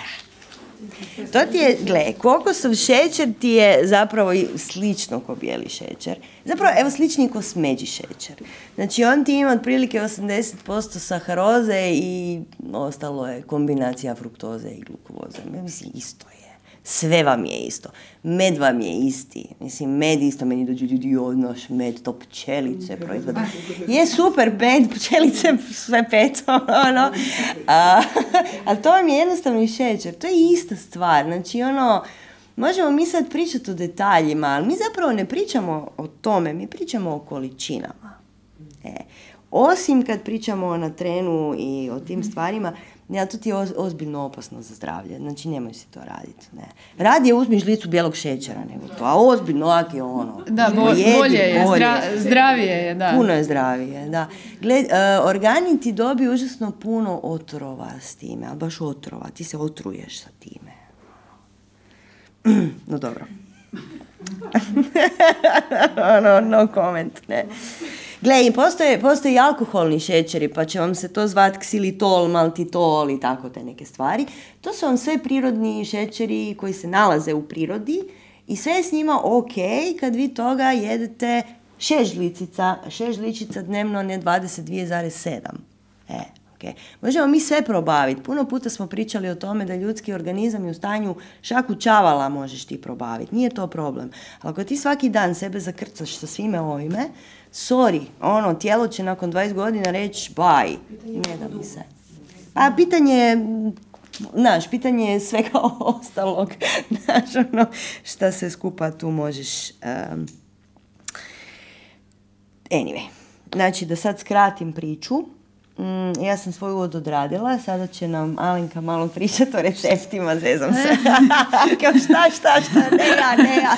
To ti je, gle, kokosov šećer ti je zapravo i slično ko bijeli šećer. Zapravo, evo, slični ko smeđi šećer. Znači, on ti ima otprilike osamdeset posto saharoze i ostalo je kombinacija fruktoze i glukovoze. Mislim, isto je. Sve vam je isto. Med vam je isti. Mislim, med isto, meni dođu ljudi odnoš, med, to pčelice proizvode. Je super, med, pčelice, sve pet, ono. A, ali to vam je jednostavno i šećer. To je ista stvar. Znači, ono, možemo mi sad pričati o detaljima, ali mi zapravo ne pričamo o tome, mi pričamo o količinama. E, osim kad pričamo o natrenu i o tim stvarima, ne, to ti je ozbiljno opasno za zdravlje. Znači, nemoj si to raditi. Ne. Radije uzmi žlicu bijelog šećera nego to, a ozbiljno lak je ono. Da, bo, jedi, bolje je, bolje. Zdra, zdravije je, da. Puno je zdravije, da. Gled, uh, organi ti dobiju užasno puno otrova s time, ali baš otrova. Ti se otruješ sa time. No, dobro. no, no comment, ne. Gle, postoje, postoje i alkoholni šećeri, pa će vam se to zvati ksilitol, maltitol i tako te neke stvari. To su vam sve prirodni šećeri koji se nalaze u prirodi i sve je s njima ok kad vi toga jedete šest žlicica, šest žličica dnevno, ne dvadeset dva zarez sedam. E, ok. Možemo mi sve probaviti. Puno puta smo pričali o tome da ljudski organizam je u stanju šaku čavala možeš ti probaviti. Nije to problem. Ali ako ti svaki dan sebe zakrcaš sa svime ovime, sorry, ono, tijelo će nakon dvadeset godina reći bye, ne da mi se. A pitanje je, znaš, pitanje je svega ostalog, znaš, ono, šta se skupa tu možeš... Um... Anyway, znači, da sad skratim priču, mm, ja sam svoj uvod odradila, sada će nam Alenka malo pričati o receptima, zezam se. Kao šta, šta, šta, ne ja, ne ja.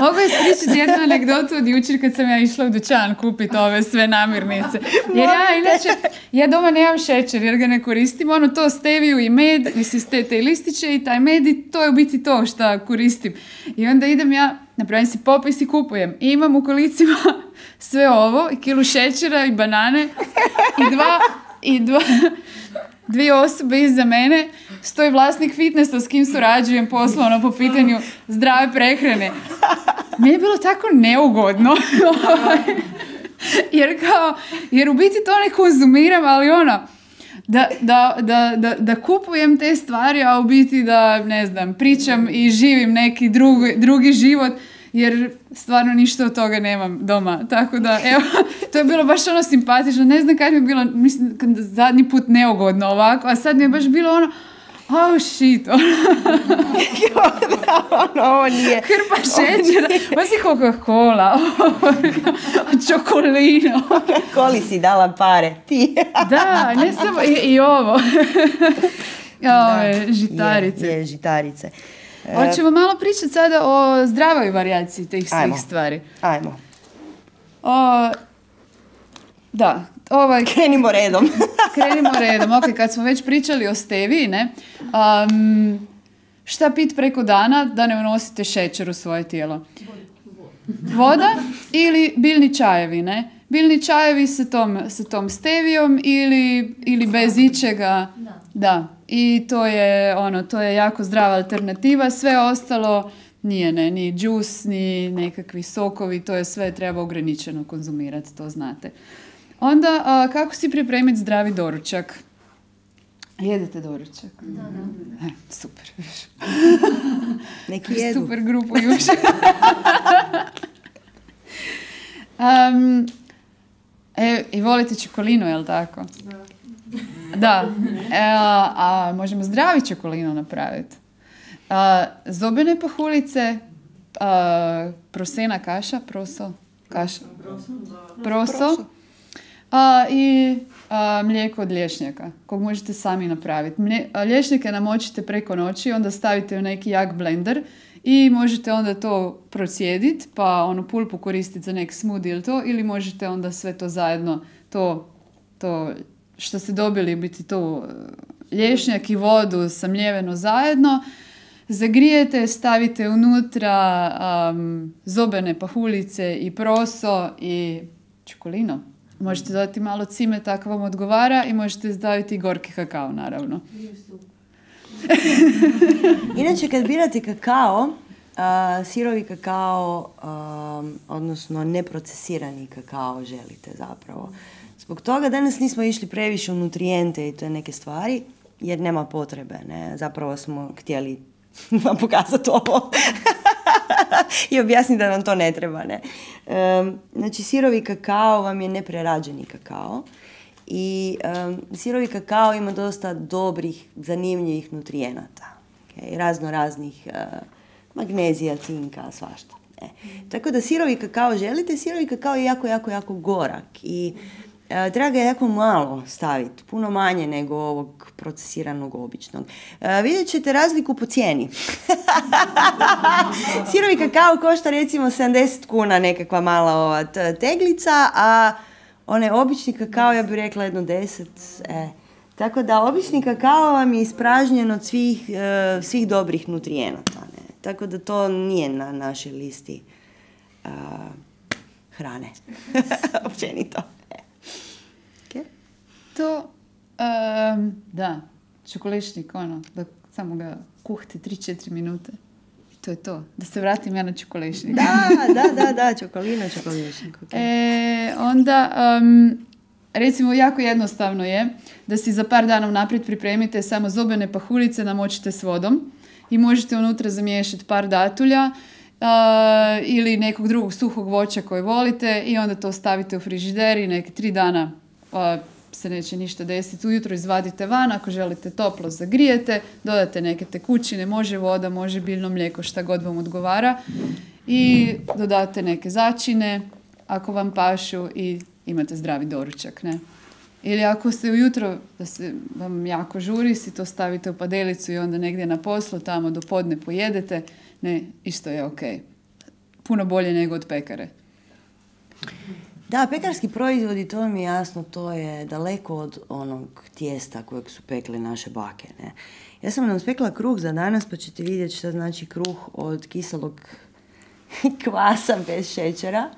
Mogu ispričati jednu anegdotu od jučer kad sam ja išla u dućan kupiti ove sve namirnice. Jer ja inače, ja doma nemam šećer jer ga ne koristim, ono to steviju i med, mislim ste te listiće i taj med i to je u biti to što koristim. I onda idem ja, napravim si popis i kupujem. I imam u kolicima sve ovo, i kilu šećera i banane i dva, i dva, dvije osobe iza mene, stoji vlasnik fitnessa s kim surađujem poslovno po pitanju zdrave prehrane. Meni je bilo tako neugodno. jer kao, jer u biti to ne konzumiram, ali ono, da, da, da, da, da kupujem te stvari, a u biti da, ne znam, pričam i živim neki drugi, drugi život, jer stvarno ništa od toga nemam doma. Tako da, evo, to je bilo baš ono simpatično. Ne znam kad mi je bilo, mislim, zadnji put neugodno ovako, a sad mi je baš bilo ono, oh shit, ono. ono, ovo nije. Hrpa šećera, osim Coca-Cola, čokolino. Koli si dala pare, ti. Da, ne samo, i, i ovo. Ove, žitarice. Je, je, žitarice. Hoćemo malo pričati sada o zdravoj varijaciji tih svih Ajmo. stvari. Ajmo. O, da, ovaj... Krenimo redom. Krenimo redom. Ok, kad smo već pričali o steviji, ne? Um, šta pit preko dana da ne unosite šećer u svoje tijelo? Voda ili biljni čajevi, ne? Biljni čajevi sa tom, sa tom stevijom ili, ili bez ičega. Da. Da. I to je, ono, to je jako zdrava alternativa. Sve ostalo nije, ne, ni džus, ni nekakvi sokovi, to je sve treba ograničeno konzumirati, to znate. Onda, a, kako si pripremiti zdravi doručak? Jedete doručak? Da, da. E, super. Neki jedu. Super grupu jučer. um, e, I volite čokolinu, jel tako? Da. Da. E, a, a možemo zdravi čokolinu napraviti. A, zobene pahulice, a, prosena kaša, proso, kaša, proso, a, i a, mlijeko od lješnjaka, kog možete sami napraviti. Mlje, a, lješnjake namočite preko noći, onda stavite u neki jak blender i možete onda to procijediti, pa onu pulpu koristiti za nek smoothie ili to, ili možete onda sve to zajedno, to, to što ste dobili, biti to lješnjak i vodu samljeveno zajedno, zagrijete, stavite unutra um, zobene pahulice i proso i čokolino. Možete dodati malo cimeta ako vam odgovara i možete staviti i gorki kakao, naravno. Inače, kad birate kakao, a, sirovi kakao, a, odnosno neprocesirani kakao želite zapravo. Zbog toga danas nismo išli previše u nutrijente i to je neke stvari, jer nema potrebe, ne? Zapravo smo htjeli vam pokazati ovo i objasniti da nam to ne treba, ne? Um, znači, sirovi kakao vam je neprerađeni kakao i um, sirovi kakao ima dosta dobrih, zanimljivih nutrijenata, okay? Razno raznih uh, magnezija, cinka, svašta. E. Tako da sirovi kakao želite, sirovi kakao je jako, jako, jako gorak i E, treba ga jako malo staviti, puno manje nego ovog procesiranog običnog. E, vidjet ćete razliku po cijeni. Sirovi kakao košta recimo sedamdeset kuna nekakva mala ova teglica, a onaj obični kakao ja bih rekla jedno deset. E. Tako da obični kakao vam je ispražnjen od svih, e, svih dobrih nutrijenata. Ne? Tako da to nije na našoj listi e, hrane. Općenito. To, um, da, čokolešnik, ono, da samo ga kuhte tri do četiri minute. I to je to. Da se vratim ja na čokolešnik. Da, da, da, da, čokolina, čokolešnik. Okay. E, onda, um, recimo, jako jednostavno je da si za par dana unaprijed pripremite samo zobene pahulice, namočite s vodom i možete unutra zamiješati par datulja uh, ili nekog drugog suhog voća koje volite i onda to stavite u frižider i neke tri dana uh, se neće ništa desiti. Ujutro izvadite van, ako želite toplo zagrijete, dodate neke tekućine, može voda, može biljno mlijeko, šta god vam odgovara i dodate neke začine ako vam pašu i imate zdravi doručak, ne? Ili ako ste ujutro, da se vam jako žuri, si to stavite u padelicu i onda negdje na poslu, tamo do podne pojedete, ne, isto je ok. Puno bolje nego od pekare. Da, pekarski proizvodi, to mi je jasno, to je daleko od onog tijesta kojeg su pekle naše bake, ne. Ja sam nam spekla kruh za danas, pa ćete vidjeti šta znači kruh od kiselog kvasa bez šećera.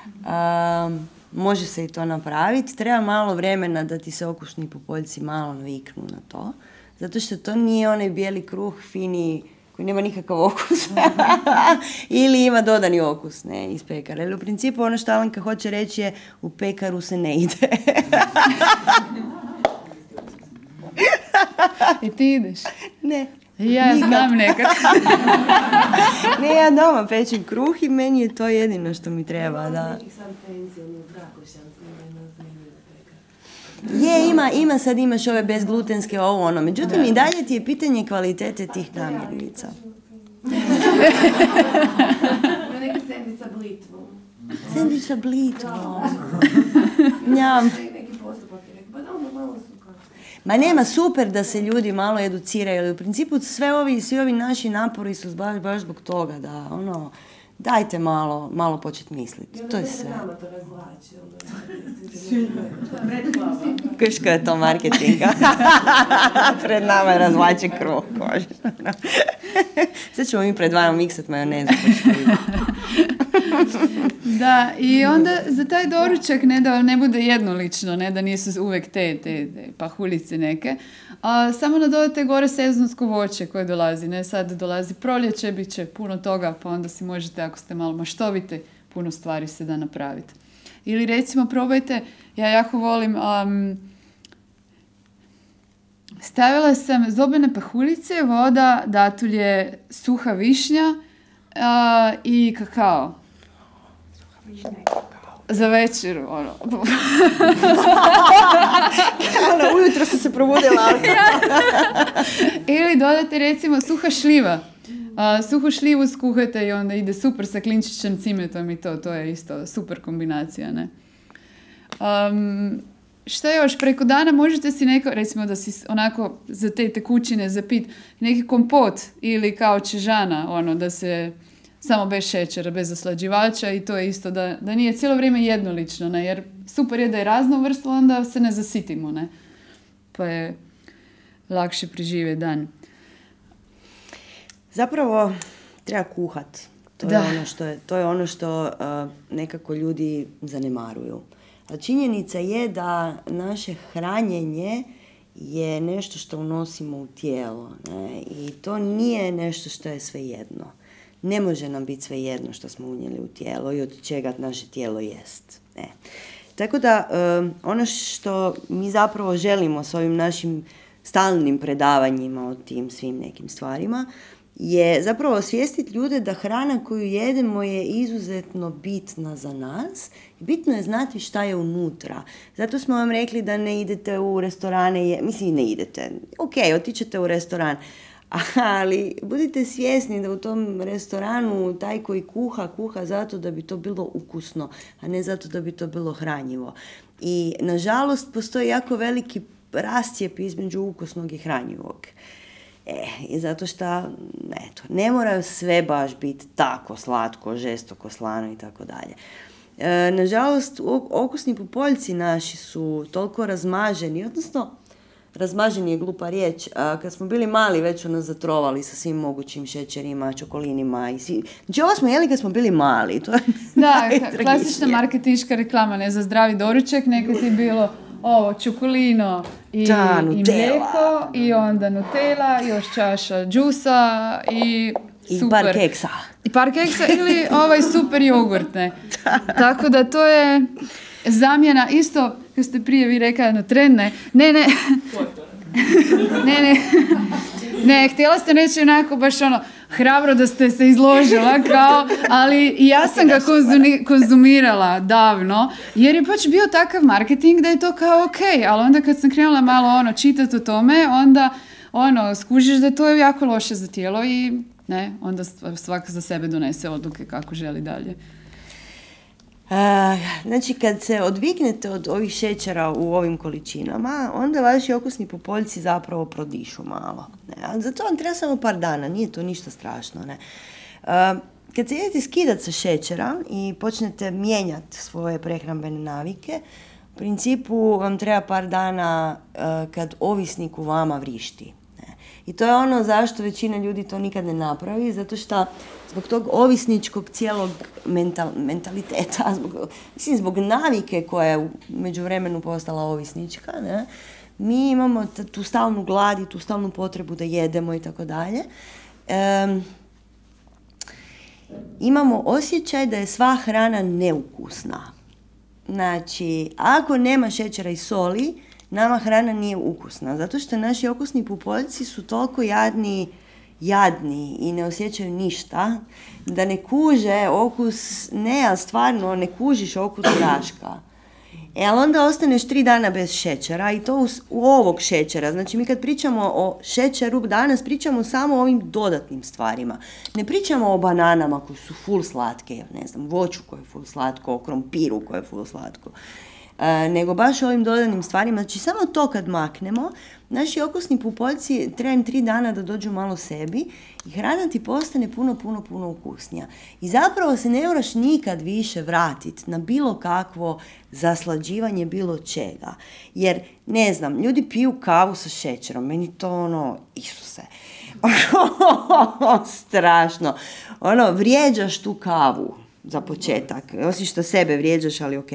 Um, može se i to napraviti. Treba malo vremena da ti se okusni pupoljci malo naviknu na to. Zato što to nije onaj bijeli kruh, fini, koji nema nikakav okus. Ili ima dodani okus, ne, iz pekara. Ali u principu ono što Alenka hoće reći je u pekaru se ne ide. I ti ideš? Ne. Ja nikad. Znam nekad. Ne, ja doma pečem kruh i meni je to jedino što mi treba, da. Je, ima, ima, sad imaš ove bezglutenske, ovo ono. Međutim, i dalje ti je pitanje kvalitete tih namirnica. Ima neka sendvič sa blitvom. Sendvič sa blitvom. Njam. Neki postupak je rekao, pa da onda malo su kao. Ma nema, super da se ljudi malo educiraju, ali u principu sve ovi, svi ovi naši napori su baš, baš zbog toga, da, ono, dajte malo, malo početi misliti. To je sve. Kuško je to marketinga. Pred nama je razvlači kruh. Sad ćemo mi pred vama miksat majonezu. Da, i onda za taj doručak ne da ne bude jednolično, ne da nisu uvijek te, te, te pahuljice neke, a samo nadodate gore sezonsko voće koje dolazi. Ne, sad dolazi proljeće, bit će puno toga, pa onda si možete, ako ste malo maštovite, puno stvari se da napraviti. Ili recimo probajte, ja jako volim, um, stavila sam zobene pahuljice, voda, datulje, suha višnja uh, i kakao. Za večeru, ono. Ono, ujutro sam se probudila. Ili dodate recimo suha šljiva. Uh, suhu šljivu skuhate i onda ide super sa klinčićem, cimetom i to. To je isto super kombinacija, ne? Um, šta još? Preko dana možete si neko, recimo da si onako za te tekućine zapit neki kompot ili kao čežana, ono, da se samo bez šećera, bez oslađivača i to je isto da, da nije cijelo vrijeme jednolično, ne? Jer super je da je raznovrsno, onda se ne zasitimo, ne? Pa je lakše preživjeti dan. Zapravo treba kuhat. To Da. je ono što, je, to je ono što uh, nekako ljudi zanemaruju. A činjenica je da naše hranjenje je nešto što unosimo u tijelo. Ne? I to nije nešto što je svejedno. Ne može nam biti svejedno što smo unijeli u tijelo i od čega naše tijelo jest. Ne. Tako da um, ono što mi zapravo želimo s ovim našim stalnim predavanjima o tim svim nekim stvarima je zapravo osvijestiti ljude da hrana koju jedemo je izuzetno bitna za nas. Bitno je znati šta je unutra. Zato smo vam rekli da ne idete u restorane, je, mislim ne idete, ok, otićete u restoran, ali budite svjesni da u tom restoranu taj koji kuha, kuha zato da bi to bilo ukusno, a ne zato da bi to bilo hranjivo. I nažalost postoji jako veliki rascijep između ukusnog i hranjivog. E, i zato što, eto, ne moraju sve baš biti tako slatko, žestoko, slano i tako dalje. E, nažalost, okusni pupoljci naši su toliko razmaženi, odnosno, razmaženi je glupa riječ, a kad smo bili mali već su nas zatrovali sa svim mogućim šećerima, čokolinima i svi... Znači, ovo smo jeli kad smo bili mali, to je Da, najtragičnije. klasična marketinška reklama, ne, za zdravi doručak, nekad je bilo ovo, čokolino i, Da, i Nutella. mlijeko, i onda Nutella, još čaša džusa i I super. par keksa. I par keksa ili ovaj super jogurt, ne. Tako da to je zamjena, isto, kad ste prije vi rekli na tren, ne, ne, ne, ne, ne, ne, htjela ste reći onako baš ono, hrabro da ste se izložila, kao, ali i ja sam ga konzumi, konzumirala davno, jer je baš bio takav marketing da je to kao ok, ali onda kad sam krenula malo ono čitati o tome, onda ono, skužiš da to je jako loše za tijelo i ne, onda svak za sebe donese odluke kako želi dalje. Uh, znači, kad se odviknete od ovih šećera u ovim količinama, onda vaši okusni pupoljci zapravo prodišu malo. Ne? A za to vam treba samo par dana, nije to ništa strašno. Ne? Uh, kad se idete skidati sa šećera i počnete mijenjati svoje prehrambene navike, u principu vam treba par dana uh, kad ovisnik u vama vrišti. I to je ono zašto većina ljudi to nikad ne napravi, zato što zbog tog ovisničkog cijelog mental, mentaliteta, zbog, mislim zbog navike koja je u međuvremenu postala ovisnička, ne, mi imamo t- tu stalnu glad i tu stalnu potrebu da jedemo i tako dalje. Em, imamo osjećaj da je sva hrana neukusna. Znači, ako nema šećera i soli, nama hrana nije ukusna, zato što naši okusni pupoljci su toliko jadni, jadni i ne osjećaju ništa, da ne kuže okus, ne, ali stvarno ne kužiš okus graška. E, ali onda ostaneš tri dana bez šećera i to u, u ovog šećera. Znači, mi kad pričamo o šećeru danas, pričamo samo o ovim dodatnim stvarima. Ne pričamo o bananama koje su full slatke, ne znam, voću koje je full slatko, o krompiru koje je full slatko. nego baš ovim dodanim stvarima. Znači, samo to kad maknemo, naši okusni pupoljci treba im tri dana da dođu malo sebi i hrana ti postane puno, puno, puno ukusnija. I zapravo se ne moraš nikad više vratiti na bilo kakvo zaslađivanje bilo čega. Jer, ne znam, ljudi piju kavu sa šećerom, meni to ono, Isuse, strašno. Ono, vrijeđaš tu kavu za početak. Osim što sebe vrijeđaš, ali ok.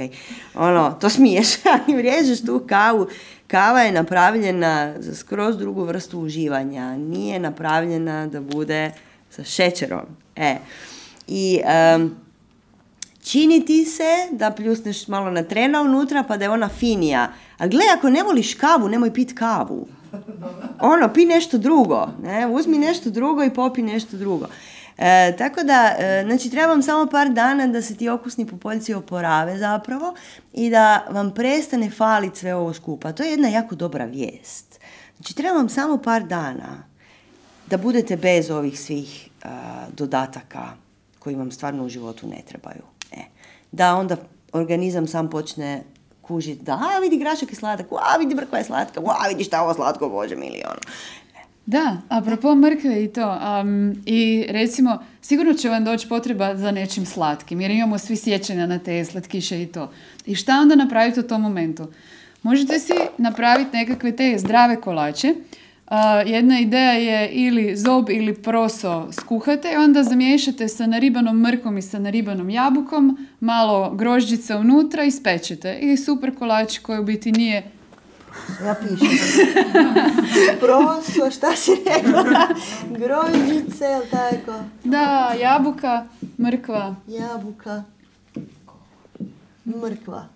Ono, to smiješ, ali vrijeđaš tu kavu. Kava je napravljena za skroz drugu vrstu uživanja. Nije napravljena da bude sa šećerom. E. I um, čini ti se da pljusneš malo na trena unutra pa da je ona finija. A gle, ako ne voliš kavu, nemoj pit kavu. Ono, pi nešto drugo. Ne? Uzmi nešto drugo i popi nešto drugo. E, tako da, e, znači, treba vam samo par dana da se ti okusni pupoljci oporave zapravo i da vam prestane faliti sve ovo skupa. To je jedna jako dobra vijest. Znači, treba vam samo par dana da budete bez ovih svih uh, dodataka koji vam stvarno u životu ne trebaju. E, da onda organizam sam počne kužiti da, a vidi grašak je sladak, a vidi mrkva je slatka, a vidi šta ovo slatko, bože mili, ono. Da, apropo mrkve i to. Um, I recimo, sigurno će vam doći potreba za nečim slatkim, jer imamo svi sjećanja na te slatkiše i to. I šta onda napraviti u tom momentu? Možete si napraviti nekakve te zdrave kolače. Uh, jedna ideja je ili zob ili proso skuhate i onda zamiješate sa naribanom mrkom i sa naribanom jabukom, malo grožđica unutra i spečete. I super kolač koji u biti nije... Ja pišem. Proso, šta si rekla? Grožđice, ili tako? Da, jabuka, mrkva. Jabuka, mrkva.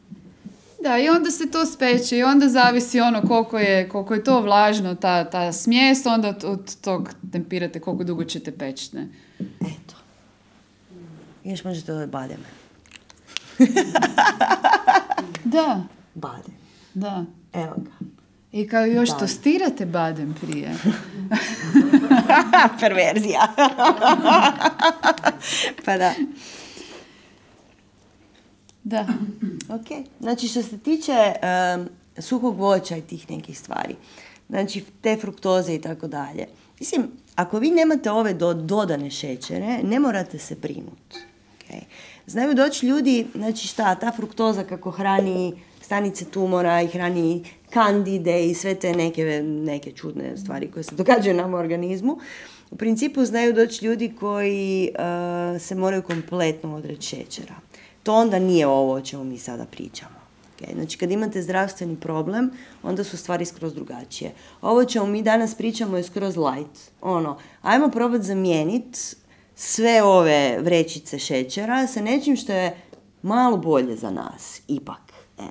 Da, i onda se to speče i onda zavisi ono koliko je, koliko je to vlažno, ta, ta smjes, onda od, od tog tempirate koliko dugo ćete peći, ne? Eto. Još možete dodati bademe. Da. Badem. Da. Evo ga. I kao još Badem. tostirate badem prije. Perverzija. Pa da. Da. Ok. Znači, što se tiče um, suhog voća i tih nekih stvari, znači te fruktoze i tako dalje. Mislim, ako vi nemate ove do, dodane šećere, ne morate se brinuti. Okay. Znaju doći ljudi, znači šta, ta fruktoza kako hrani stanice tumora i hrani kandide i sve te neke, neke čudne stvari koje se događaju nam u organizmu. U principu znaju doći ljudi koji uh, se moraju kompletno odreći šećera. To onda nije ovo o čemu mi sada pričamo. Okay? Znači, kad imate zdravstveni problem, onda su stvari skroz drugačije. Ovo čemu mi danas pričamo je skroz light. Ono, ajmo probati zamijeniti sve ove vrećice šećera sa nečim što je malo bolje za nas, ipak. E.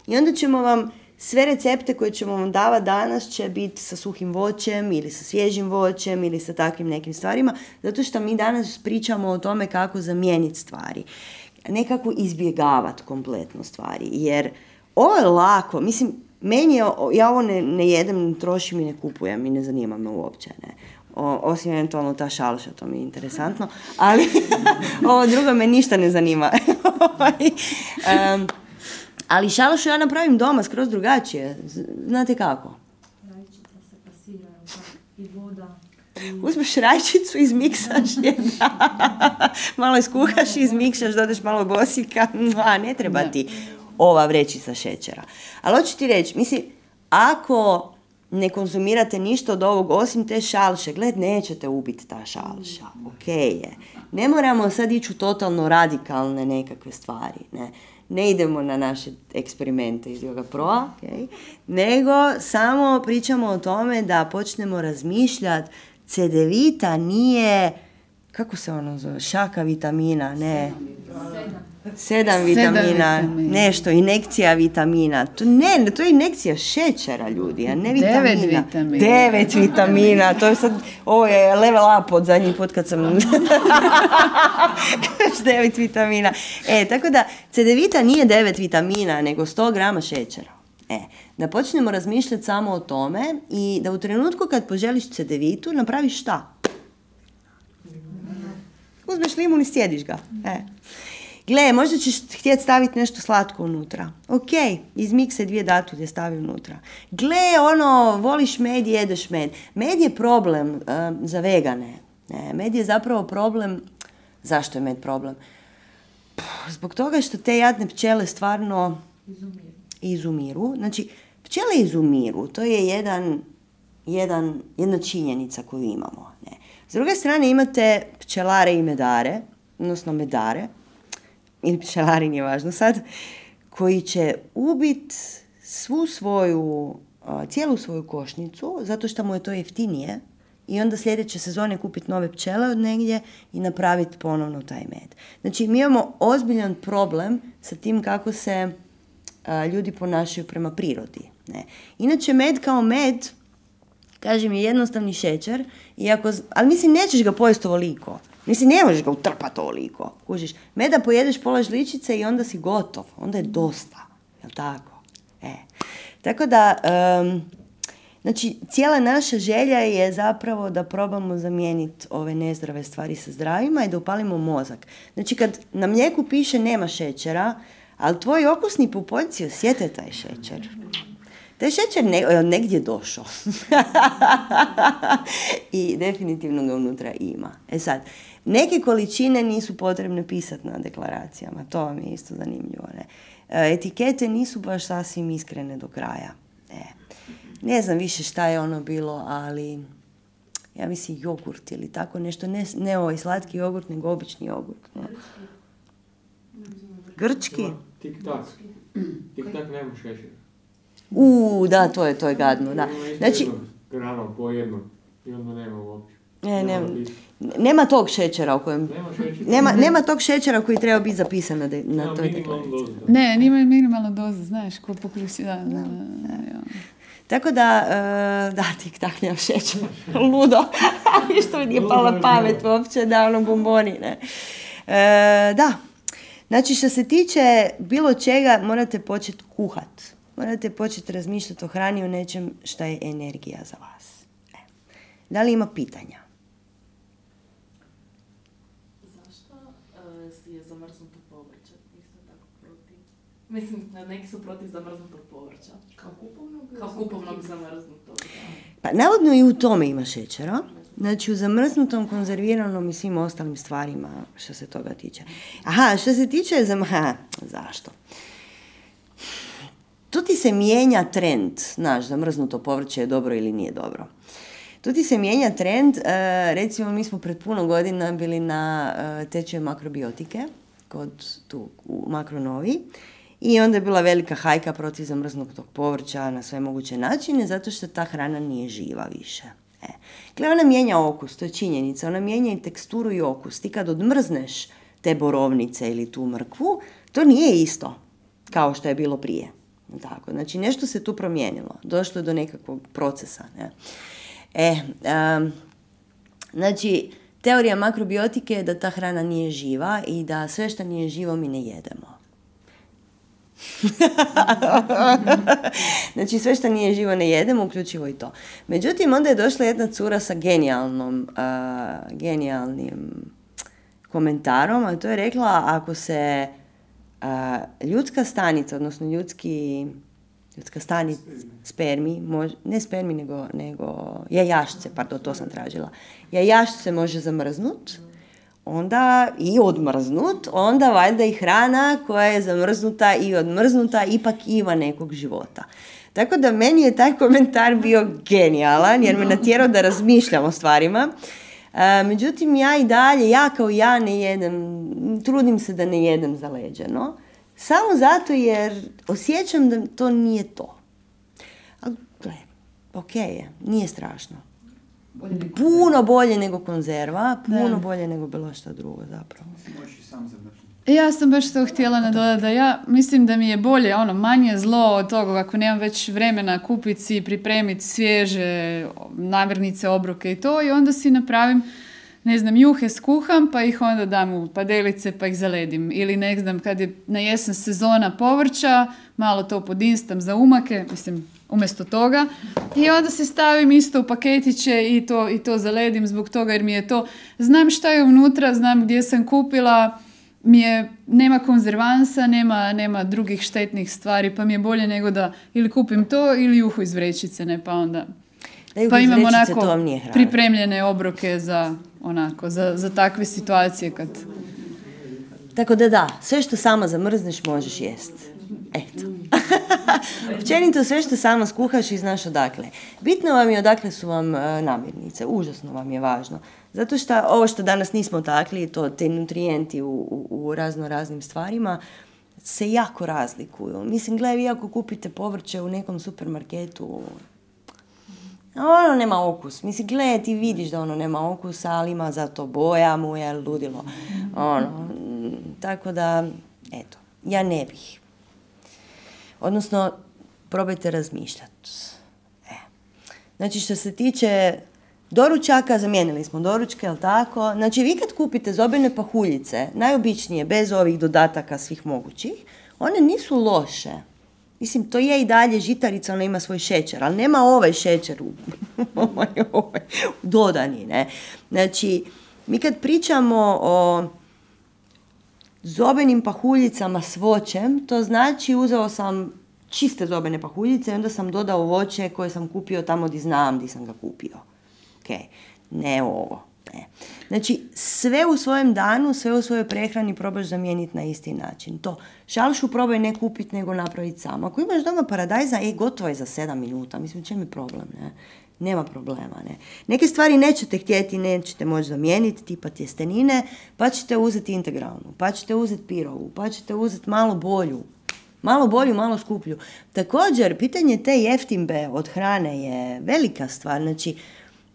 I onda ćemo vam, sve recepte koje ćemo vam davati danas će biti sa suhim voćem ili sa svježim voćem ili sa takvim nekim stvarima, zato što mi danas pričamo o tome kako zamijeniti stvari. Nekako izbjegavati kompletno stvari, jer ovo je lako, mislim, meni je, ja ovo ne, ne jedem, ne trošim i ne kupujem i ne zanima me uopće, ne. O, osim eventualno ta šalša, to mi je interesantno, ali ovo drugo me ništa ne zanima. um, ali šalšu ja napravim doma skroz drugačije, znate kako? Rajčica se pasira i voda. Uzmeš rajčicu, izmiksaš je, da. Malo iskuhaš, izmiksaš, dodaš malo bosika, a ne treba ti ova vrećica šećera. Ali hoću ti reći, mislim, ako ne konzumirate ništa od ovog osim te šalše, gled, nećete ubiti ta šalša, ok je. Ne moramo sad ići u totalno radikalne nekakve stvari, ne. Ne idemo na naše eksperimente iz Yoga Proa, okay? Nego samo pričamo o tome da počnemo razmišljati. Cedevita nije, kako se ono zove, šaka vitamina, ne. Sedam. Sedam vitamina, Sedam vitamina, nešto, injekcija vitamina. To, ne, to je injekcija šećera, ljudi, a ne vitamina. Devet vitamina. Devet vitamina, to je sad, ovo je level up od zadnji put kad sam... devet vitamina. E, tako da, cedevita nije devet vitamina, nego sto grama šećera. E, da počnemo razmišljati samo o tome i da u trenutku kad poželiš cedevitu, napraviš šta? Uzmeš limun i sjediš ga. E. Gle, možda ćeš htjeti staviti nešto slatko unutra. Ok, iz mikse dvije datulje stavi unutra. Gle, ono, voliš med, jedeš med. Med je problem uh, za vegane. Ne, med je zapravo problem. Zašto je med problem? Puh, zbog toga što te jadne pčele stvarno Izumiru. izumiru. Znači, pčele izumiru. To je jedan, jedan, jedna činjenica koju imamo. Ne. S druge strane imate pčelare i medare, odnosno medare, ili pčelari, nije važno sad, koji će ubiti svu svoju, cijelu svoju košnicu, zato što mu je to jeftinije, i onda sljedeće sezone kupiti nove pčele od negdje i napraviti ponovno taj med. Znači, mi imamo ozbiljan problem sa tim kako se a, ljudi ponašaju prema prirodi. Ne. Inače, med kao med, kažem, je jednostavni šećer, iako, ali mislim, nećeš ga pojesti ovoliko. Mislim, ne možeš ga utrpati ovoliko. Kužiš, meda pojedeš pola žličice i onda si gotov. Onda je dosta. Jel' tako? E. Tako da, um, znači, cijela naša želja je zapravo da probamo zamijeniti ove nezdrave stvari sa zdravima i da upalimo mozak. Znači, kad na mlijeku piše nema šećera, ali tvoji okusni pupoljci osjete taj šećer. Taj šećer ne, negdje došao. I definitivno ga unutra ima. E sad, neke količine nisu potrebne pisati na deklaracijama. To vam je isto zanimljivo. Ne? Etikete nisu baš sasvim iskrene do kraja. E. Ne znam više šta je ono bilo, ali ja mislim jogurt ili tako nešto. Ne, ne ovaj slatki jogurt, nego obični jogurt. Ne? Grčki? Tik-tak. Tik-tak nema šećera. Uuu, da, to je, to je gadno, da. Znači, grano po jedno i onda nema uopće. Ne, nema, nema tog šećera u kojem... Nema šećera. Nema, nema tog šećera koji treba biti zapisan na, de, na Nema toj minimalnu deklaraciji. dozu. Ne, nima minimalna doza, znaš, ko pokusi, da, da, da, da. Tako da, uh, da, tik tak nema šećera. Ludo. Što mi nije pala pamet uopće, da, ono bomboni, ne. E, da, znači što se tiče bilo čega, morate početi kuhat. Morate početi razmišljati o hrani, o nečem šta je energija za vas. E. Da li ima pitanja? Zašto uh, je zamrznuto povrće isto tako protiv? Mislim, neki su protiv zamrznutog povrća. Kao kupovnog? Kao kupovnog zamrznutog. Pa navodno i u tome ima šećera. Znači u zamrznutom, konzerviranom i svim ostalim stvarima što se toga tiče. Aha, što se tiče zam... Aha, zašto? Tu ti se mijenja trend, znaš, zamrznuto povrće je dobro ili nije dobro. Tu ti se mijenja trend, e, recimo mi smo pred puno godina bili na e, tečaju makrobiotike, kod tu u Makronovi, i onda je bila velika hajka protiv zamrznutog povrća na sve moguće načine, zato što ta hrana nije živa više. E. Gle, ona mijenja okus, to je činjenica, ona mijenja i teksturu i okus. Ti kad odmrzneš te borovnice ili tu mrkvu, to nije isto kao što je bilo prije. Tako, znači nešto se tu promijenilo, došlo je do nekakvog procesa. Ne? E, um, znači, teorija makrobiotike je da ta hrana nije živa i da sve što nije živo mi ne jedemo. Znači, sve što nije živo ne jedemo, uključivo i to. Međutim, onda je došla jedna cura sa genijalnom, uh, genijalnim komentarom, a to je rekla, ako se Uh, ljudska stanica, odnosno ljudski, ljudska stanica, spermi, mož, ne spermi, nego, nego jajašce, pardon, to sam tražila. Jajašce može zamrznut, onda i odmrznut, onda valjda i hrana koja je zamrznuta i odmrznuta ipak ima nekog života. Tako da meni je taj komentar bio genijalan, jer me natjerao da razmišljam o stvarima. Uh, međutim, ja i dalje, ja kao ja ne jedem, trudim se da ne jedem zaleđeno, samo zato jer osjećam da to nije to. Ali, gle, ok je, nije strašno. Bolje Puno bolje nego konzerva, puno Da. bolje nego bilo što drugo zapravo. Možeš i sam zamrznuti. Ja sam baš to htjela nadodati da ja mislim da mi je bolje, ono, manje zlo od toga ako nemam već vremena kupiti si, pripremiti svježe namirnice, obroke i to, i onda si napravim, ne znam, juhe skuham pa ih onda dam u padelice pa ih zaledim. Ili ne znam, kad je na jesen sezona povrća, malo to podinstam za umake, mislim, umjesto toga, i onda se stavim isto u paketiće i to, i to zaledim zbog toga jer mi je to, znam šta je unutra, znam gdje sam kupila, mi je, nema konzervansa, nema, nema drugih štetnih stvari, pa mi je bolje nego da ili kupim to ili juhu iz vrećice, ne, pa onda... Da, pa imam vrećice, onako to vam nije hrana. pripremljene obroke za, onako, za, za takve situacije kad... Tako da da, sve što sama zamrzneš možeš jest. Eto. Općenito sve što sama skuhaš i znaš odakle. Bitno vam je odakle su vam uh, namirnice, užasno vam je važno. Zato što ovo što danas nismo takli, to te nutrijenti u, u, u razno raznim stvarima, se jako razlikuju. Mislim, gledaj, vi ako kupite povrće u nekom supermarketu, ono nema okus. Mislim, gledaj, ti vidiš da ono nema okusa, ali ima zato boja mu je ludilo. Ono, tako da, eto, ja ne bih. Odnosno, probajte razmišljati. E. Znači, što se tiče doručaka, zamijenili smo doručke, jel tako? Znači, vi kad kupite zobene pahuljice, najobičnije, bez ovih dodataka svih mogućih, one nisu loše. Mislim, to je i dalje žitarica, ona ima svoj šećer, ali nema ovaj šećer u, ovaj, dodani, ne? Znači, mi kad pričamo o zobenim pahuljicama s voćem, to znači uzeo sam čiste zobene pahuljice i onda sam dodao voće koje sam kupio tamo gdje znam gdje sam ga kupio. Ok, ne ovo. Ne. Znači, sve u svojem danu, sve u svojoj prehrani probaš zamijeniti na isti način. To šalšu probaj ne kupiti, nego napraviti sam. Ako imaš doma paradajza, e, gotovo je za sedam minuta. Mislim, čem je problem, ne? Nema problema, ne. Neke stvari nećete htjeti, nećete moći zamijeniti, tipa tjestenine, pa ćete uzeti integralnu, pa ćete uzeti pirovu, pa ćete uzeti malo bolju. Malo bolju, malo skuplju. Također, pitanje te jeftimbe od hrane je velika stvar. Znači,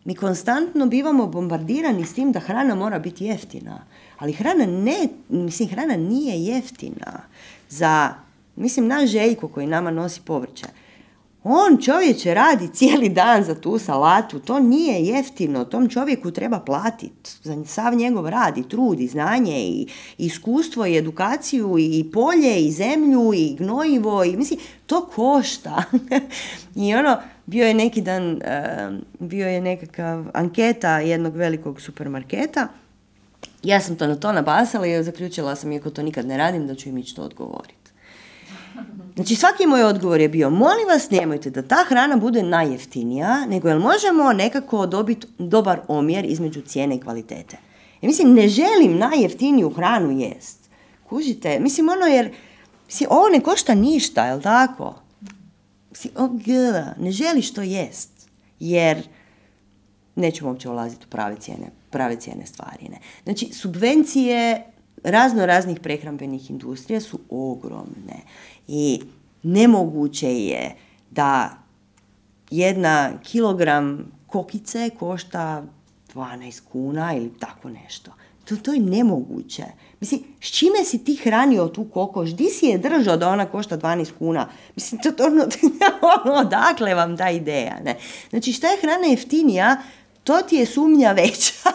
mi konstantno bivamo bombardirani s tim da hrana mora biti jeftina. Ali hrana ne, mislim, hrana nije jeftina. Za, mislim, naš Željko koji nama nosi povrće, on, čovječe, radi cijeli dan za tu salatu, to nije jeftino, tom čovjeku treba platiti za sav njegov rad i trud i znanje i, i iskustvo i edukaciju i polje i zemlju i gnojivo i mislim, to košta. I ono, bio je neki dan, uh, bio je nekakav anketa jednog velikog supermarketa, ja sam to na to nabasala i zaključila sam, iako to nikad ne radim, da ću im ići to odgovoriti. Znači, svaki moj odgovor je bio, molim vas, nemojte da ta hrana bude najjeftinija, nego jel možemo nekako dobiti dobar omjer između cijene i kvalitete. Ja mislim, ne želim najjeftiniju hranu jest. Kužite? Mislim, ono jer, mislim, ovo ne košta ništa, jel tako? Mislim, oh, ne želiš to jest, jer nećemo uopće ulaziti u prave cijene, prave cijene stvari. Ne? Znači, subvencije razno raznih prehrambenih industrija su ogromne i nemoguće je da jedna kilogram kokice košta dvanaest kuna ili tako nešto. To, to je nemoguće. Mislim, s čime si ti hranio tu kokoš? Di si je držao da ona košta dvanaest kuna? Mislim, to, to, ono, ono, odakle vam ta ideja? Ne? Znači, šta je hrana jeftinija, to ti je sumnja veća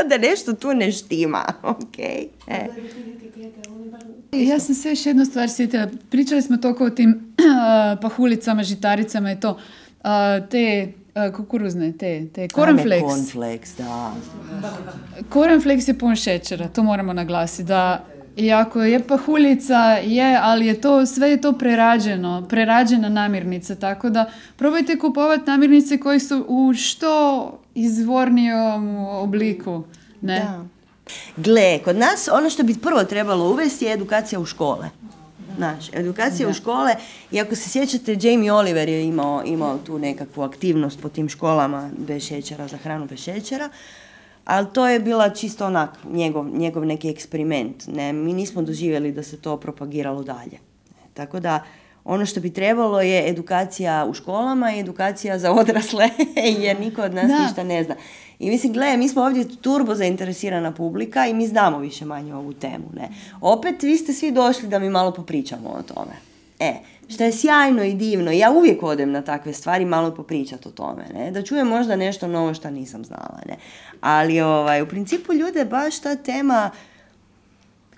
da nešto tu ne štima. Okay? E. Ja sam se još jednu stvar sjetila. Pričali smo toliko o tim uh, pahulicama, žitaricama i to. Uh, te uh, kukuruzne, te, te cornflakes. Cornflakes, da. Cornflakes je pun šećera, to moramo naglasiti. Da, i ako je pahuljica, je, ali je to, sve je to prerađeno, prerađena namirnica, tako da probajte kupovati namirnice koje su u što izvornijom obliku. Ne? Da. Gle, kod nas ono što bi prvo trebalo uvesti je edukacija u škole. Znaš, edukacija da. u škole, i ako se sjećate, Jamie Oliver je imao, imao tu nekakvu aktivnost po tim školama bez šećera, za hranu bez šećera, ali to je bila čisto onak njegov, njegov neki eksperiment. Ne? Mi nismo doživjeli da se to propagiralo dalje. Tako da ono što bi trebalo je edukacija u školama i edukacija za odrasle, jer niko od nas da. ništa ne zna. I mislim, gledaj, mi smo ovdje turbo zainteresirana publika i mi znamo više manje ovu temu. Ne? Opet, vi ste svi došli da mi malo popričamo o tome. E, što je sjajno i divno. Ja uvijek odem na takve stvari malo popričati o tome. Ne? Da čujem možda nešto novo što nisam znala. Ne? Ali ovaj, u principu ljude baš ta tema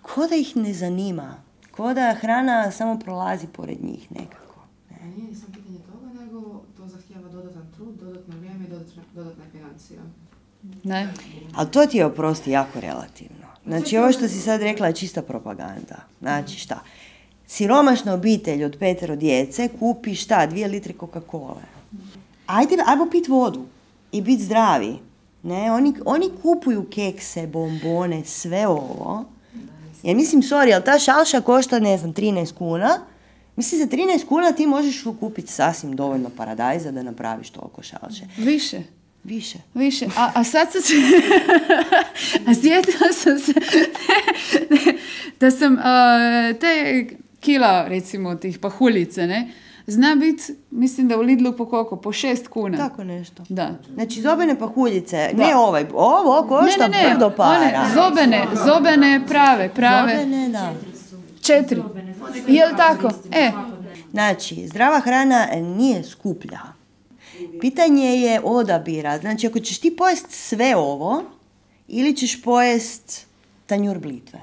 ko da ih ne zanima. Ko da hrana samo prolazi pored njih nekako. Ne? A nije samo pitanje toga, nego to zahtijeva dodatan trud, dodatno vrijeme i dodatne, dodatne financije. Ne. Ali to ti je, oprosti, jako relativno. Znači, ovo što si sad rekla je čista propaganda. Znači, šta? Siromašna obitelj od petero djece kupi šta? Dvije litre Coca-Cola. Ajde, ajmo pit vodu i biti zdravi. Ne, oni, oni kupuju kekse, bombone, sve ovo. Ja mislim, sorry, ali ta šalša košta, ne znam, trinaest kuna. Mislim, za trinaest kuna ti možeš kupiti sasvim dovoljno paradajza da napraviš toliko šalše. Više. Više. Više. A, a sad sam se... a sjetila sam se da sam uh, te kila, recimo, tih pahuljice, ne, zna biti, mislim da u Lidlu po koliko? Po šest kuna. Tako nešto. Da. Znači, zobene pahuljice, Da. ne ovaj, ovo košta ne, ne, ne, brdo para. one zobene, zobene prave, prave. Zobene, da. Četiri. Jel tako? E, Znači, zdrava hrana nije skuplja. Pitanje je odabira. Znači, ako ćeš ti pojest sve ovo, ili ćeš pojest tanjur blitve.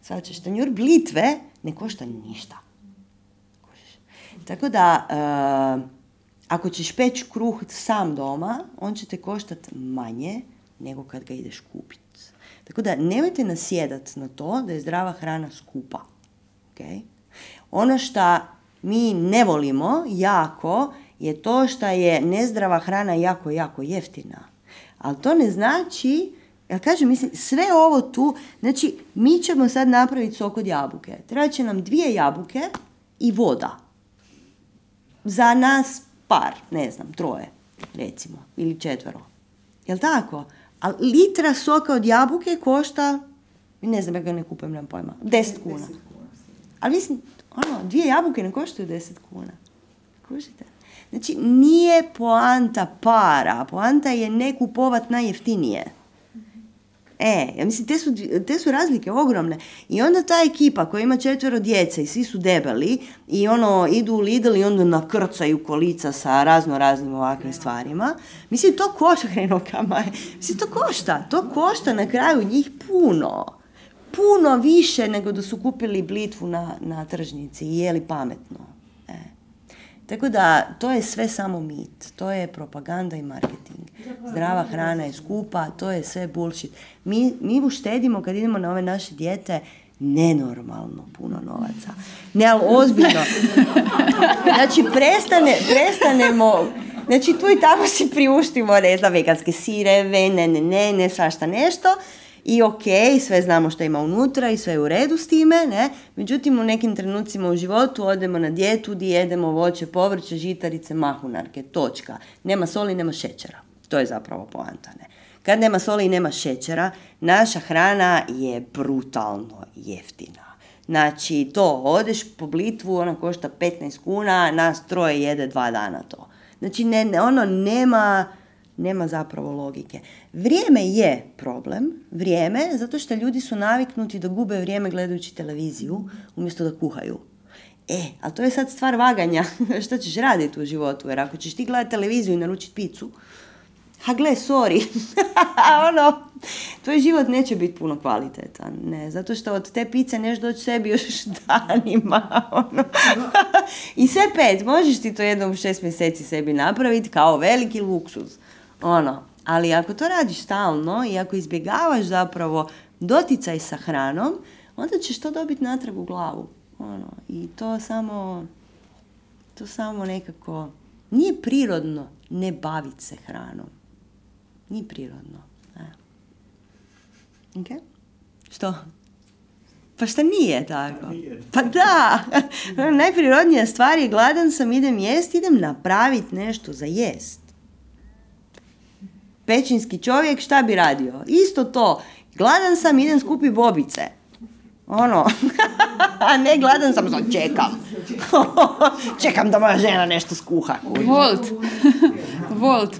Sad ćeš, tanjur blitve ne košta ništa. Kužiš? Tako da, uh, ako ćeš peći kruh sam doma, on će te koštati manje nego kad ga ideš kupiti. Tako da, nemojte nasjedati na to da je zdrava hrana skupa. Okay? Ono što mi ne volimo jako je to što je nezdrava hrana jako, jako jeftina. Ali to ne znači, ja kažem, mislim, sve ovo tu, znači, mi ćemo sad napraviti sok od jabuke. Treba će nam dvije jabuke i voda. Za nas par, ne znam, troje, recimo, ili četvero. Jel' tako? A litra soka od jabuke košta, ne znam, ja ga ne kupujem, nemam pojma, deset kuna. Ali mislim, ono, dvije jabuke ne koštaju deset kuna. Kužite? Znači, nije poanta para, poanta je ne kupovat najjeftinije. E, ja mislim, te su, te su razlike ogromne. I onda ta ekipa koja ima četvero djece i svi su debeli i ono, idu u Lidl i onda nakrcaju kolica sa razno raznim ovakvim stvarima. Mislim, to košta, hrenokama. Mislim, to košta. To košta na kraju njih puno. Puno više nego da su kupili blitvu na, na tržnici i jeli pametno. E. Tako da, to je sve samo mit. To je propaganda i marketing. Zdrava hrana je skupa, to je sve bullshit. Mi, mi uštedimo kad idemo na ove naše dijete nenormalno puno novaca. Ne, ali ozbiljno. Znači, prestane, prestanemo... Znači, tu i tamo si priuštimo, ne znam, veganske sireve, ne, ne, ne, ne, svašta nešto. I ok, sve znamo što ima unutra i sve je u redu s time, ne? Međutim, u nekim trenucima u životu odemo na dijetu gdje jedemo voće, povrće, žitarice, mahunarke, točka. Nema soli, nema šećera. To je zapravo poanta, ne? Kad nema soli i nema šećera, naša hrana je brutalno jeftina. Znači, to, odeš po blitvu, ona košta petnaest kuna, nas troje jede dva dana to. Znači, ne, ne, ono nema... Nema zapravo logike. Vrijeme je problem, vrijeme, zato što ljudi su naviknuti da gube vrijeme gledajući televiziju umjesto da kuhaju. E, ali to je sad stvar vaganja. Što ćeš raditi u životu? Jer ako ćeš ti gledati televiziju i naručiti picu, ha gle, sorry, ono, tvoj život neće biti puno kvalitetan, ne, zato što od te pice neš doći sebi još danima, ono. I sve pet, možeš ti to jednom u šest mjeseci sebi napraviti kao veliki luksuz, ono, ali ako to radiš stalno i ako izbjegavaš zapravo doticaj sa hranom, onda ćeš to dobiti natrag u glavu, ono, i to samo, to samo nekako, nije prirodno ne baviti se hranom. Nije prirodno. E. Ok? Što? Pa šta nije tako? Pa da! Najprirodnija stvar je gladan sam, idem jest, idem napraviti nešto za jest. Pećinski čovjek šta bi radio? Isto to. Gladan sam, idem skupi bobice. Ono. A ne gladan sam, sad čekam. Čekam da moja žena nešto skuha. Volt. Volt.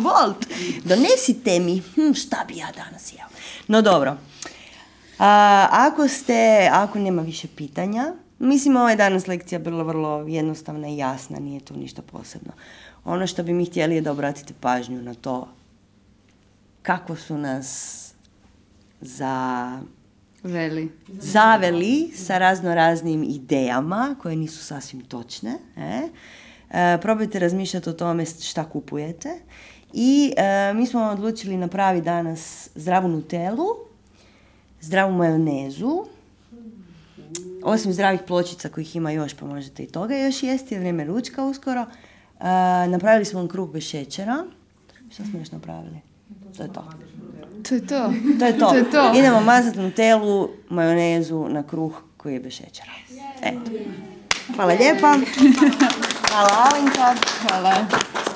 Volt. Donesite mi. Hm, šta bi ja danas jeo? No dobro. A, ako ste, ako nema više pitanja, mislim ova je danas lekcija bila vrlo jednostavna i jasna, nije tu ništa posebno. Ono što bi mi htjeli je da obratite pažnju na to kako su nas za... Veli. zaveli sa razno raznim idejama koje nisu sasvim točne. E? E, probajte razmišljati o tome šta kupujete I e, mi smo odlučili napraviti danas zdravu nutelu, zdravu majonezu, osim zdravih pločica kojih ima još, pa možete i toga još jesti, je vrijeme ručka uskoro. E, napravili smo kruh bez šećera. Što smo još napravili? To je to. To je to. To je to. To je to. Idemo mazati nutelu, majonezu na kruh koji je bez šećera. Eto. Hvala lijepa. Hvala Alenka. Hvala.